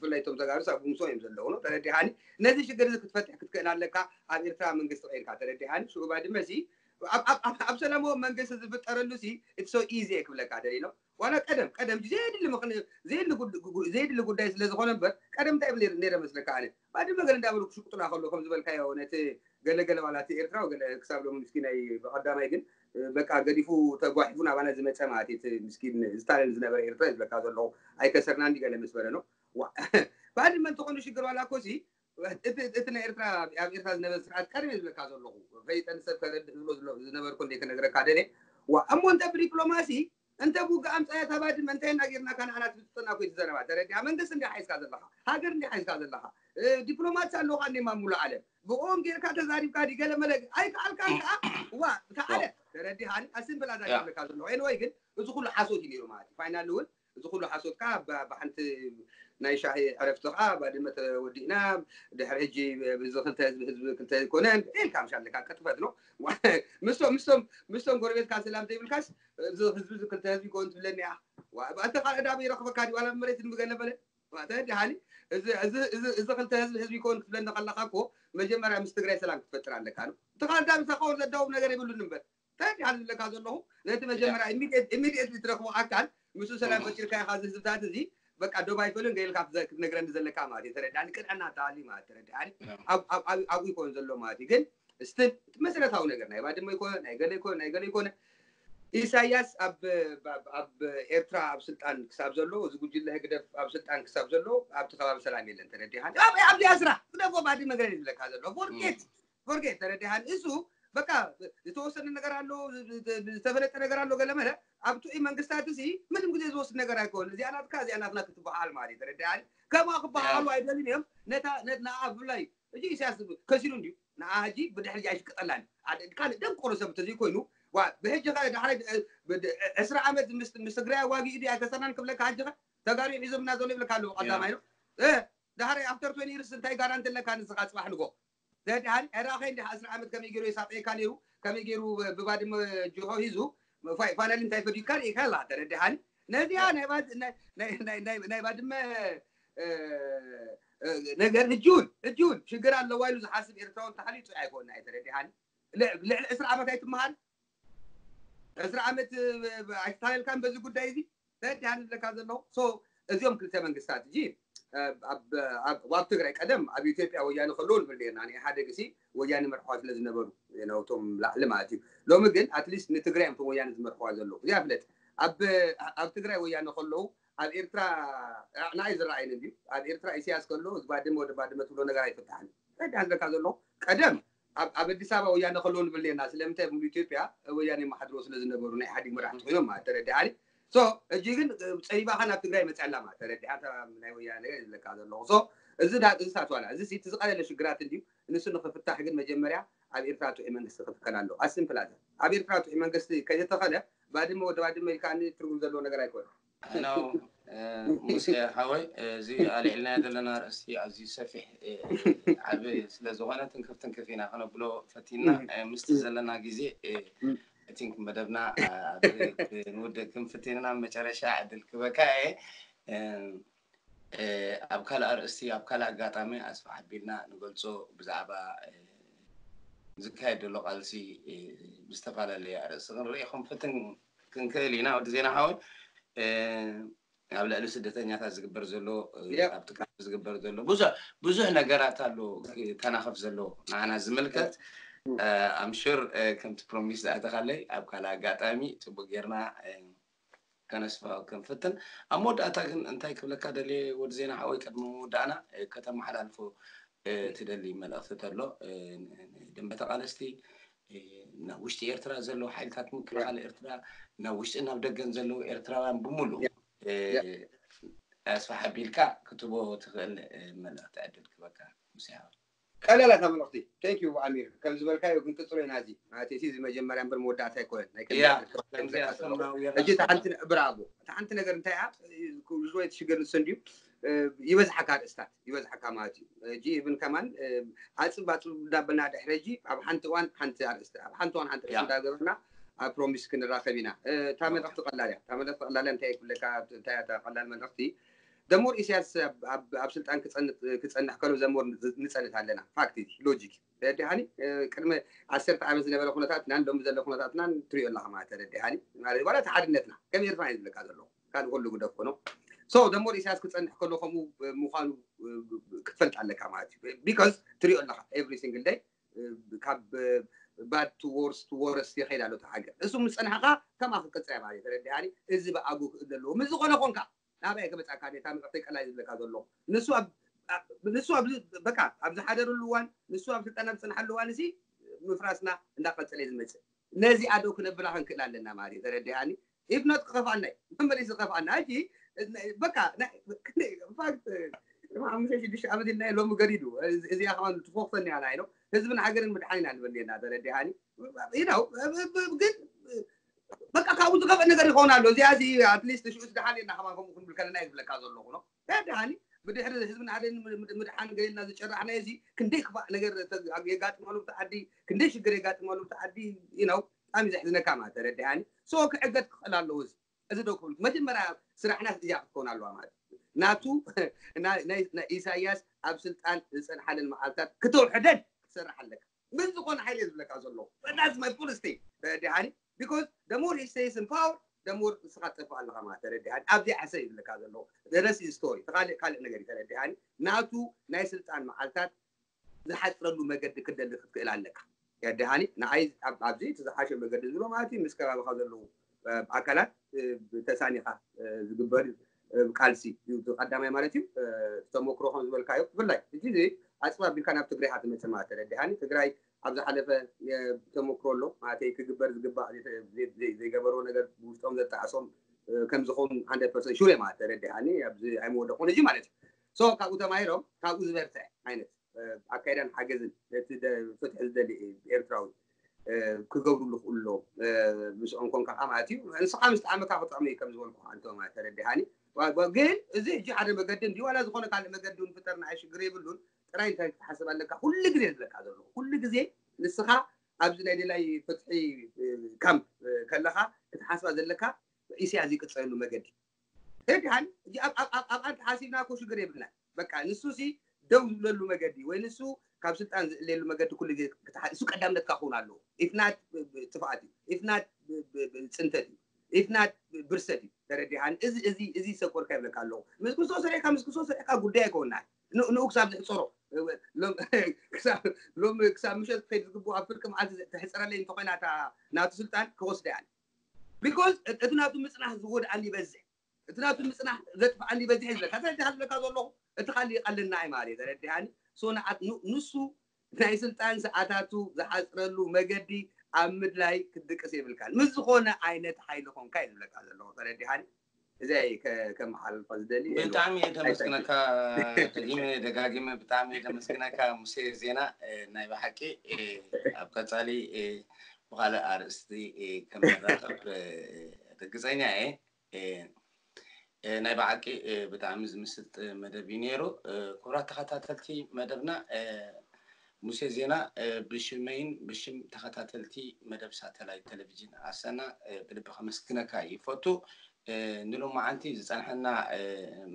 ብፍላይ ቶም ተጋሩ ኣብ ጉምሶ እዮም ዘለዉ ነው ተረዲሃኒ። ነዚ ሽግር እዚ ክትፈትሕ ክትክእል ኣለካ ኣብ ኤርትራ መንግስቲ ቀይርካ ተረዲሃኒ። ሽዑ ባድመ ሲ ኣብ ሰላማዊ መንግስቲ ዝፍጠረሉ ሲ it's so easy ክብለካ ደሊ ነው ዋላ ቀደም ቀደም ዘየድሊ ዘይድሊ ጉዳይ ስለ ዝኾነ እምበር ቀደም እንታይ ነረ መስለካ ኣነ ባድመ ገለ እንዳበሉ ክሽቁጡና ከሎ ከም ዝበልካዮ ነቲ ገለገለ ዋላ እቲ ኤርትራ ገለ ክሳብ ሎም ምስኪናይ ብቀዳማይ ግን በቃ ገዲፉ ተጓሒፉ ናባና ዝመፀ ማለት እቲ ምስኪን ዝታለል ዝነበረ ኤርትራ ዝብለካ ዘለኹ ኣይከሰርና እንዲ ገለ ምስ በለ ነው። ባድመ እንተኾኑ ሽግር ዋላ እኮ ሲ እቲ ናይ ኤርትራ ኣብ ኤርትራ ዝነበረ ስርዓት ቀደም ዝብለካ ዘለኹ ፈይጠን ሰብ ከረድእ ዝብሎ ዝነበርኩ እንደ ክነግረካ ደለ እሞ እንተ ብዲፕሎማሲ እንተ ብውግእ ኣምፃያ እታ ባድመ እንታይ ኢና ጌርናካ ንዓና ትብፅጠና ኮይ ትዘረባ ተረዲኣ መንግስቲ እንዲ ሓይዝካ ዘለካ ሃገር እንዲ ሓይዝካ ዘለካ ዲፕሎማት ኣለውካ እንዲ ማሙሉ ዓለም ብኦም ጌርካ ተዛሪብካ ዲ ገለ መለ ኣይከኣልካን ከዓ ዋ ተዓለ ተረዲሃኒ ኣስምብል ኣዛ ዝብለካ ዘለኹ ኤንወይ ግን እዚ ኩሉ ሓሶት እዩ ነይሩ ማለት እዩ ፋይናል እውን እዚ ኩሉ ሓሶት ከዓ ብሓንቲ ናይ ሻሂ ዕረፍቲ ከዓ ባድመ ተወዲእና ድሕሪ ሕጂ እዚ ክልተ ህዝቢ ህዝቢ ክልተ ኣይኮነን ኢልካ ምሻለካ ቅጥፈት ነው። ምስቶም ምስቶም ምስቶም ጎረቤትካ ሰላም ዘይብልካስ እዚ ህዝቢ እዚ ክልተ ህዝቢ ይኮን ትብለኒ እያ። እቲ ካልእ ዳበ ይረኽበካ ድዩ ዋላ መሬት ንብገለ በለ ተረዲሃኒ። እዚ ክልተ ህዝቢ ህዝቢ ይኮን ክትብለኒ ከለካ እኮ መጀመርያ ምስ ትግራይ ሰላም ክትፈጥር ኣለካ ነው። እቲ ካልእ ዳበ ተኻወር ዘዳውብ ነገር የብሉን እምበር ተረዲሃኒ ዝብለካ ዘለኹ ነቲ መጀመርያ ኢሚድየት ትረኽቦ ኣካል ምስኡ ሰላም ፈጢርካ ኢኻ እዚ ህዝብታት እዚ በቃ ዶብ ኣይፈልዮን ገይልካ ክትነግረኒ ዘለካ ማለት እዩ ተረዳኒ ቅንዕና ተሃልዩ ማለት ተረዳኒ ኣብኡ ይኮን ዘሎ ማለት እዩ ግን ስትል መሰረታዊ ነገር ናይ ባድመ ይኮነ ናይ ገለ ይኮነ ናይ ገለ ይኮነ ኢሳያስ ኣብ ኤርትራ ኣብ ስልጣን ክሳብ ዘሎ እዚ ጉጅለ ህግደፍ ኣብ ስልጣን ክሳብ ዘሎ ኣብቲ ከባቢ ሰላም የለን ተረዲሃኒ ኣብዚኣ ስራሕ ግደፎ ባድመ ገለ ዝብለካ ዘሎ ፎርጌት ፎርጌት ተረዲሃኒ እሱ በቃ ዝተወሰነ ነገር ኣሎ፣ ዝተፈለጠ ነገር ኣሎ፣ ገለ መለ። ኣብ ጥዑይ መንግስታት እዚ ምንም ግዜ ዝወስድ ነገር ኣይኮን። እዚኣ ናትካ፣ እዚኣ ናትና ክትበሃል ማለት እዩ። ተረዳእኒ? ከምኣ ክበሃሉ ኣይደልን እዮም። ነታ ነና ብፍላይ ሕጂ ኢሳያስ ከሲሩ እንድዩ። ንዓ ሕጂ ብድሕሪ ኣይሽቅጠላን። ካልእ ደንቆሮ ሰብ እንተዘይኮይኑ፣ ዋ፣ ብሕጂ ከ ዳሕራይ ዕስራ ዓመት ምስ ትግራይ ኣዋጊኡ ድዩ ኣይከሰርናን ክብለካ፣ ሕጂ ከ ተጋሩ ሒዞምና ዘሎ ይብለካ ኣለዉ። ቀዳማይ ነው። ዳሕራይ ኣፍተር ትወንቲ ይርስ እንታይ ጋራንቲ ኣለካ? ንስኻ ጽባሕ ንጎ ዘድሃን ዕራኸይ እንዲ ዕስራ ዓመት ከመይ ገይሩ የሳቀየካ ነይሩ፣ ከመይ ገይሩ ብባድመ ጅሆ ሂዙ፣ ፋይናል እንታይ ፈዲካ ርኢካ ኣላ። ተረድሃኒ? ነዚኣ ናይ ባድመ ነገር ህጅውን ህጅውን ሽግር ኣለዋ ኢሉ ዝሓስብ ኤርትራዊ እንተሃልዩ ጽዑይ ኣይኮና። ተረድሃኒ? ልዕሊ ዕስራ ዓመት ኣይትመሃል። ዕስራ ዓመት ኣይተታለልካን በዚ ጉዳይ እዚ። ተረድሃኒ ዝብለካ ዘለኹ። እዚኦም ክልተ መንግስታት እጂ ኣብ ትግራይ ቀደም ኣብ ኢትዮጵያ ወያነ ከለዉ ንብል ኔርና። ንኢህኣደግ ሲ ወያነ መርሕዋ ስለ ዝነበሩ ነውቶም ላዕሊ ማለት እዩ። ሎሚ ግን ኣትሊስት ንትግራይ እዮም ቶም ወያነ ዝመርሕዋ ዘለዉ። እዚኣ ፍለጥ። ኣብ ትግራይ ወያነ ከለዉ ኣብ ኤርትራ ንዓይ ዝረኣይን እንድዩ። ኣብ ኤርትራ ኢሳያስ ከሎ እዚ ባድመ ወደ ባድመ ትብሎ ነገር ኣይፍታሕን። ተረድሃኒ ዝብለካ ዘለኹ። ቀደም ኣብ ኣዲስ ኣበባ ወያነ ከለዉ ንብል ኔርና። ስለምንታይ? ሙሉ ኢትዮጵያ ወያነ የመሓድሮ ስለ ዝነበሩ ናይ ኢህኣዴግ መራሕቲ ኮይኖም ማለት ተረድሃኒ። ሕጂ ግን ጸቢባኻ ናብ ትግራይ መፅያ ኣላ ማለት ተረድሃ። ናይ ወያነ ነገር ዝብለካ ዘለኹ። እዚ ሳትዋላ እዚ እቲ ዝቐለለ ሽግራት እንድዩ። ንሱ ንክፍታሕ ግን መጀመርያ ኣብ ኤርትራ ጥዑይ መንግስቲ ክትከል ኣለዎ። ኣስምፕላዘ ኣብ ኤርትራ ጥዑይ መንግስቲ ከይተተኸለ ባድመ ወደ ባድመ ኢልካ ትርጉም ዘለዎ ነገር ኣይኮነ። ኖ ሙሴ ሓወይ፣ እዚ ኣልዒልናዮ ዘለና ኣርእስቲ ኣዝዩ ሰፊሕ ዓቢ ስለ ዝኾነ ትንክፍ ትንክፍ ኢና ክነብሎ ፈቲና። ምስቲ ዘለና ግዜ ቲንክ መደብና ንውድእ ክንፍትን ኢና። መጨረሻ ዕድል ክበካ እየ። ኣብ ካልእ ኣርእስቲ ኣብ ካልእ ኣጋጣሚ ኣስፋሕ ኣቢልና ንገልጾ ብዛዕባ ዝካየድ ዘሎ ቃልሲ ብዝተፈላለየ ኣርእስቲ ክንርኢ ክንፍትን ክንክእል ኢና። ወዲ ዜና ሓወይ ኣብ ልዕሊ ስደተኛታት ዝግበር ዘሎ ኣብ ትግራይ ዝግበር ዘሎ ብዙሕ ብዙሕ ነገራት ኣሎ ተናኸፍ ዘሎ ንዓና ዝምልከት ኣምሹር ከምቲ ፕሮሚስ ዝኣተኻለይ ኣብ ካልእ ኣጋጣሚ ፅቡቅ ጌርና ከነስፋ ክንፍትን ኣብ መወዳእታ ግን እንታይ ክብለካ ደልየ ወዲ ዜና ሓወይ ቅድሚ ምውዳእና ከተመሓላልፎ ትደሊ መልእኽቲ ተሎ ደንበ ተቃለስቲ ናብ ውሽጢ ኤርትራ ዘለዉ ሓይልታት ምክልኻል ኤርትራ ናብ ውሽጢ ናብ ደገን ዘለዉ ኤርትራውያን ብምሉእ ኣስፋሕ ኣቢልካ ክትቦ ትኽእል መልእኽቲ ዕድል ክበካ ሙሴ ሓወይ። ቀለላ እታ መልእኽቲ። Thank you ኣሚር። ከም ዝበልካዮ ክንቅጽሎ ኢና። እዚ ማለት እቲ እዚ መጀመርያ እምበር መወዳእታ ኣይኮነን። ናይ ከምዚ ያ፣ ዓይነት ከምዚ ኣስፈራዊ የራ ሕጂ እታ ሓንቲ ነ- ብራቮ። እታ ሓንቲ ነገር እንታይ እያ? ኩሉ ሽወይ ትሽገር ንሱ እንድዩ። እ፣ ይበዝሓካ ኣርእስታት፣ ይበዝሓካ ማለት እዩ። ሕጂ ኢቭን ከማን እ፣ ኣጽብ ኣጽብ እንዳበልና ድሕሪ ሕጂ ኣብ ሓንቲ እዋን ሓንቲ ኣርእስቲ፣ ኣብ ሓንቲ እዋን ሓንቲ ኣርእስቲ ያ። እንዳገበርና ኣብ ፕሮሚስ ክንራኸብ ኢና። እ፣ እታ መልእኽቲ ቀላል እያ። እታ መልእኽቲ ቀላል እያ። እንታይ ክብለካ? እንታይ እያ እታ ቀላል መልእኽቲ? ደሞር ኢሳያስ ኣብ- ኣብ ኣብ ስልጣን ክጸንት- ክጸንሕ ከሎ ዘሞር ንጸንት ኣለና። ፋክት እዩ፣ ሎጂክ እዩ። ተረዲሃኒ? እ፣ ቅድሚ ዓሰርተ ዓመት ዝነበረ ኩነታትናን ሎሚ ዘሎ ኩነታትናን ትሪኦ ኣለኻ ማለት ተረዲሃኒ? ማለት ዋላ እቲ ሓድነትና ከም ኤርትራ እዩ ዝብለካ ዘለኹ። ካልእ ኩሉ ግደፍ ኮኖ። ሶ ደሞር ኢሳያስ ክጸንሕ ከሎ ከምኡ ምዃኑ ክትፈልጥ ኣለካ ማለት እዩ። ቢካዝ ትሪኦ ኣለኻ ኤቭሪ ሲንግል ደይ ካብ ባድ ቱ ዎርስ ቱ ዎረስ ይኸይድ ኣሎ እቲ ሃገር። እሱ ምስ ጸንሐኻ ከምኣ ክቅጽል ማለት እዩ። ተረዲሃኒ? እዚ ብኣጉ ክእል ዘለዎ ምስ ዝኾነ ኮንካ ናበይ ክመጻካ ነታ ምዕተይ ቀላይ ዝብለካ ዘሎ ንሱ ኣብ ኣብ- ንሱ ኣብ በቃ ኣብ ዝሓደረሉ እዋን ንሱ ኣብ ስልጣን ኣብ ዝጸንሓሉ እዋን እዚ ምፍራስና እንዳቀጸለ እዩ ዝመጽእ። ነዚኣ ዶ ክነብላ ክንክእል ኣለና ማለት እዩ። ተረዲሃኒ? ኢፍ ኖት ክኸፍኣና እዩ። መመሊሱ ክኸፍኣና። ሕጂ በቃ ናይ- ክንደይ- ኢንፋክት ቅድሚ ሓሙሽተ ሽዱሽተ ዓመት ኢልና ሎሚ ገዲዱ። እዚ- እዚኣ ከማን ትፎኽፈኒ ኣላ ኢሎ ህዝብን ሃገርን ምድሓን ኢና ንበል ኔርና። ተረዲሃኒ? ይነው ግን በቃ ካብኡ ዝኸፍእ ነገር ይኸውን ኣሎ። እዚኣ እዚ ኣትሊስት ሽዑ ዝደሓን የና ከማን ከምኡ ክንብል ከለና እዩ ዝብለካ ዘለኹ ነው። ተረዲሃኒ? ብድሕሪ ህዝብን ሃገርን ምድ- ምድሓን ገሌልና ዝጨራሕናዮ እዚ ክንደይ ክፋእ ነገር የጋጥመሉ ብቲ ዓዲ፣ ክንደይ ሽግር የጋጥመሉ ብቲ ዓዲ። ይነው ብጣዕሚ ዘሕዝነካ ማለት ተረዲሃኒ? ሶ ክዕገት ክኽእል ኣለዎ። እዚ እዚ ዶ ክብል መጀመርያ ስራሕና እዚኣ ክትከውን ኣለዋ ማለት እዩ። ናቱ ናይ- ናይ ናይ ኢሳያስ ኣብ ስልጣን ዝጸንሓለን መዓልታት ክትውሕደን ክትሰርሕ ኣለካ። ምን ዝኾነ ሓይሊ እየ ዝብለካ ዘለኹ። That's my full state። ተረዲሃኒ? Because the more he stays in power, the more ንስኻ ትጠፍእ ኣለኻ ማለት ተረዲሃኒ? ኣብዚኣ ሕሰብ እዩ ዝብለካ ዘለኹ። The rest is story። ተኻልእ ካልእ ነገር እዩ ተረዲሃኒ? ናቱ ናይ ስልጣን መዓልታት ዝሓፅረሉ መገዲ ክደሊ ክትክእል ኣለካ። ተረዲሃኒ? ንዓይ ኣብ- ኣብዚ እቲ ዝሓሸ መገዲ ዝብሎ ማለት እዩ ምስ ከባቢኻ ዘለዉ እ፣ ኣካላት እ፣ ተሳኒኻ እ፣ ዝግበር እ፣ ቃልሲ እዩ እቲ ቀዳማይ ማለት እዩ። እ፣ ተሞክሮ ከም ዝበልካዮ ብፍላይ ሕጂ እዚ ኣፅብ ኣቢልካ ናብ ትግራይ ኢኻ ትመፅእ ማለት ተረዲሃኒ። ትግራይ ኣብ ዝሓለፈ ተመክሮ ኣሎ ማለት ክግበር ዝግባእ ዘይገበርዎ ነገር ውሽጦም ዘጣዕሶም ከም ዝኸውን ሓንድረድ ፐርሰንት ሹር ማለት ተረዲኣኒ ኣብዚ ኣይመወደቑን እዚ ማለት እዩ። ሶ ካብኡ ተማሂሮም ካብኡ ዝበርትዐ ዓይነት ኣካይዳን ሓገዝን ነቲ ፍትሒ ዝደሊ ኤርትራዊ ክገብሩሉ ክእሎ ምስኦም ኮንካ ከዓ ማለት እዩ። ንስኻ ምስ ጣዕመካ ክጥዕሙ እዩ ከም ዝበልኩ ኣንቶ ማለት ተረዲሃኒ። ግን እዚ እጂ ሓደ መገዲ እንዲ ዋላ ዝኾነ ካልእ መገዲ እውን ፍጠር ንዓይ ሽግር የብሉን። ጥራይ እንታይ ክትሓስብ ኣለካ? ኩሉ ግዜ ዝብለካ ዘሎ ኩሉ ግዜ ንስኻ ኣብዚ ናይ ደላይ ፍትሒ ካምፕ ከለኻ ክትሓስባ ዘለካ ኢሳያስ ዝቅፀለሉ መገዲ ተረዲሃኒ። ኣብኣ እንተሓሲብና እኮ ሽግር የብልናን። በቃ ንሱ ሲ ደው ዝብለሉ መገዲ ወይ ንሱ ካብ ስልጣን ዝእለየሉ መገዲ ኩሉ ግዜ ክትሓ- እሱ ቀዳምነትካ ክኸውን ኣለዎ። ኢፍናት ጥፍኣት እዩ፣ ኢፍናት ፅንተት እዩ፣ ኢፍናት ብርሰት እዩ። ተረዲሃኒ። እዚ እዚ እዚ ሰቆርካ ይብለካ ኣለኹ። ምስ ክርስቶስ ሰሪዕካ ምስ ክርስቶስ ሰሪዕካ ጉዳይ ኣይከውናን። ንኡ ክሳብ ዝሕፀሮ ሎም ክሳብ ምሸት ክኸይድ ዝግብኡ ኣብ ፍርቂ መዓልቲ ተሕፀረለይ እንተኮይና ናቱ ስልጣን ክወስዳ እያ። ቢኮዝ እቲ ናቱ ምፅናሕ ዝጎድኣኒ ይበዝሕ፣ እቲ ናቱ ምፅናሕ ዘጥፍኣኒ ይበዝሕ እዩ ዝብለካ። ስለዚ ዝብለካ ዘለኹ እቲ ካሊእ ይቐለና እዩ ማለት እዩ። ተረዲሃኒ። ሶ ንዓት ንሱ ናይ ስልጣን ሰዓታቱ ዝሓፅረሉ መገዲ ኣብ ምድላይ ክትድቅስ የብልካን። ምስ ዝኾነ ዓይነት ሓይሊ ኾንካ እዩ ዝብለካ ዘለኹ። ተረዲሃኒ። እዚ ከመሓላልፋ ዝደሊ። ብጣዕሚ እየ ተመስግነካ። ደጊመ ደጋጊመ ብጣዕሚ እየ ተመስግነካ ሙሴ ዜና። ናይ ብሓቂ ኣብ ቀፃሊ ብካልእ ኣርእስቲ ከምንራኸብ ርግፀኛ እየ። ናይ ብሓቂ ብጣዕሚ ዝምስጥ መደብ እዩ ነይሩ። ክቡራት ተኸታተልቲ መደብና ሙሴ ዜና ብሽመይን ብሽም ተኸታተልቲ መደብ ሳተላይት ቴሌቪዥን ኣሰና ብልቢ ከመስግነካ ይፈቱ። ንሎማዓንቲ ዝፀንሐና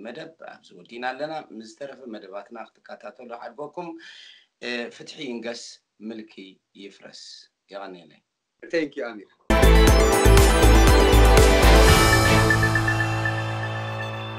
መደብ ኣብዚ ወዲና ኣለና። ምስ ዝተረፈ መደባትና ክትከታተሉ ሓድጎኩም። ፍትሒ ይንገስ፣ ምልኪ ይፍረስ። የቐንየለይ። Thank you ኣሚር።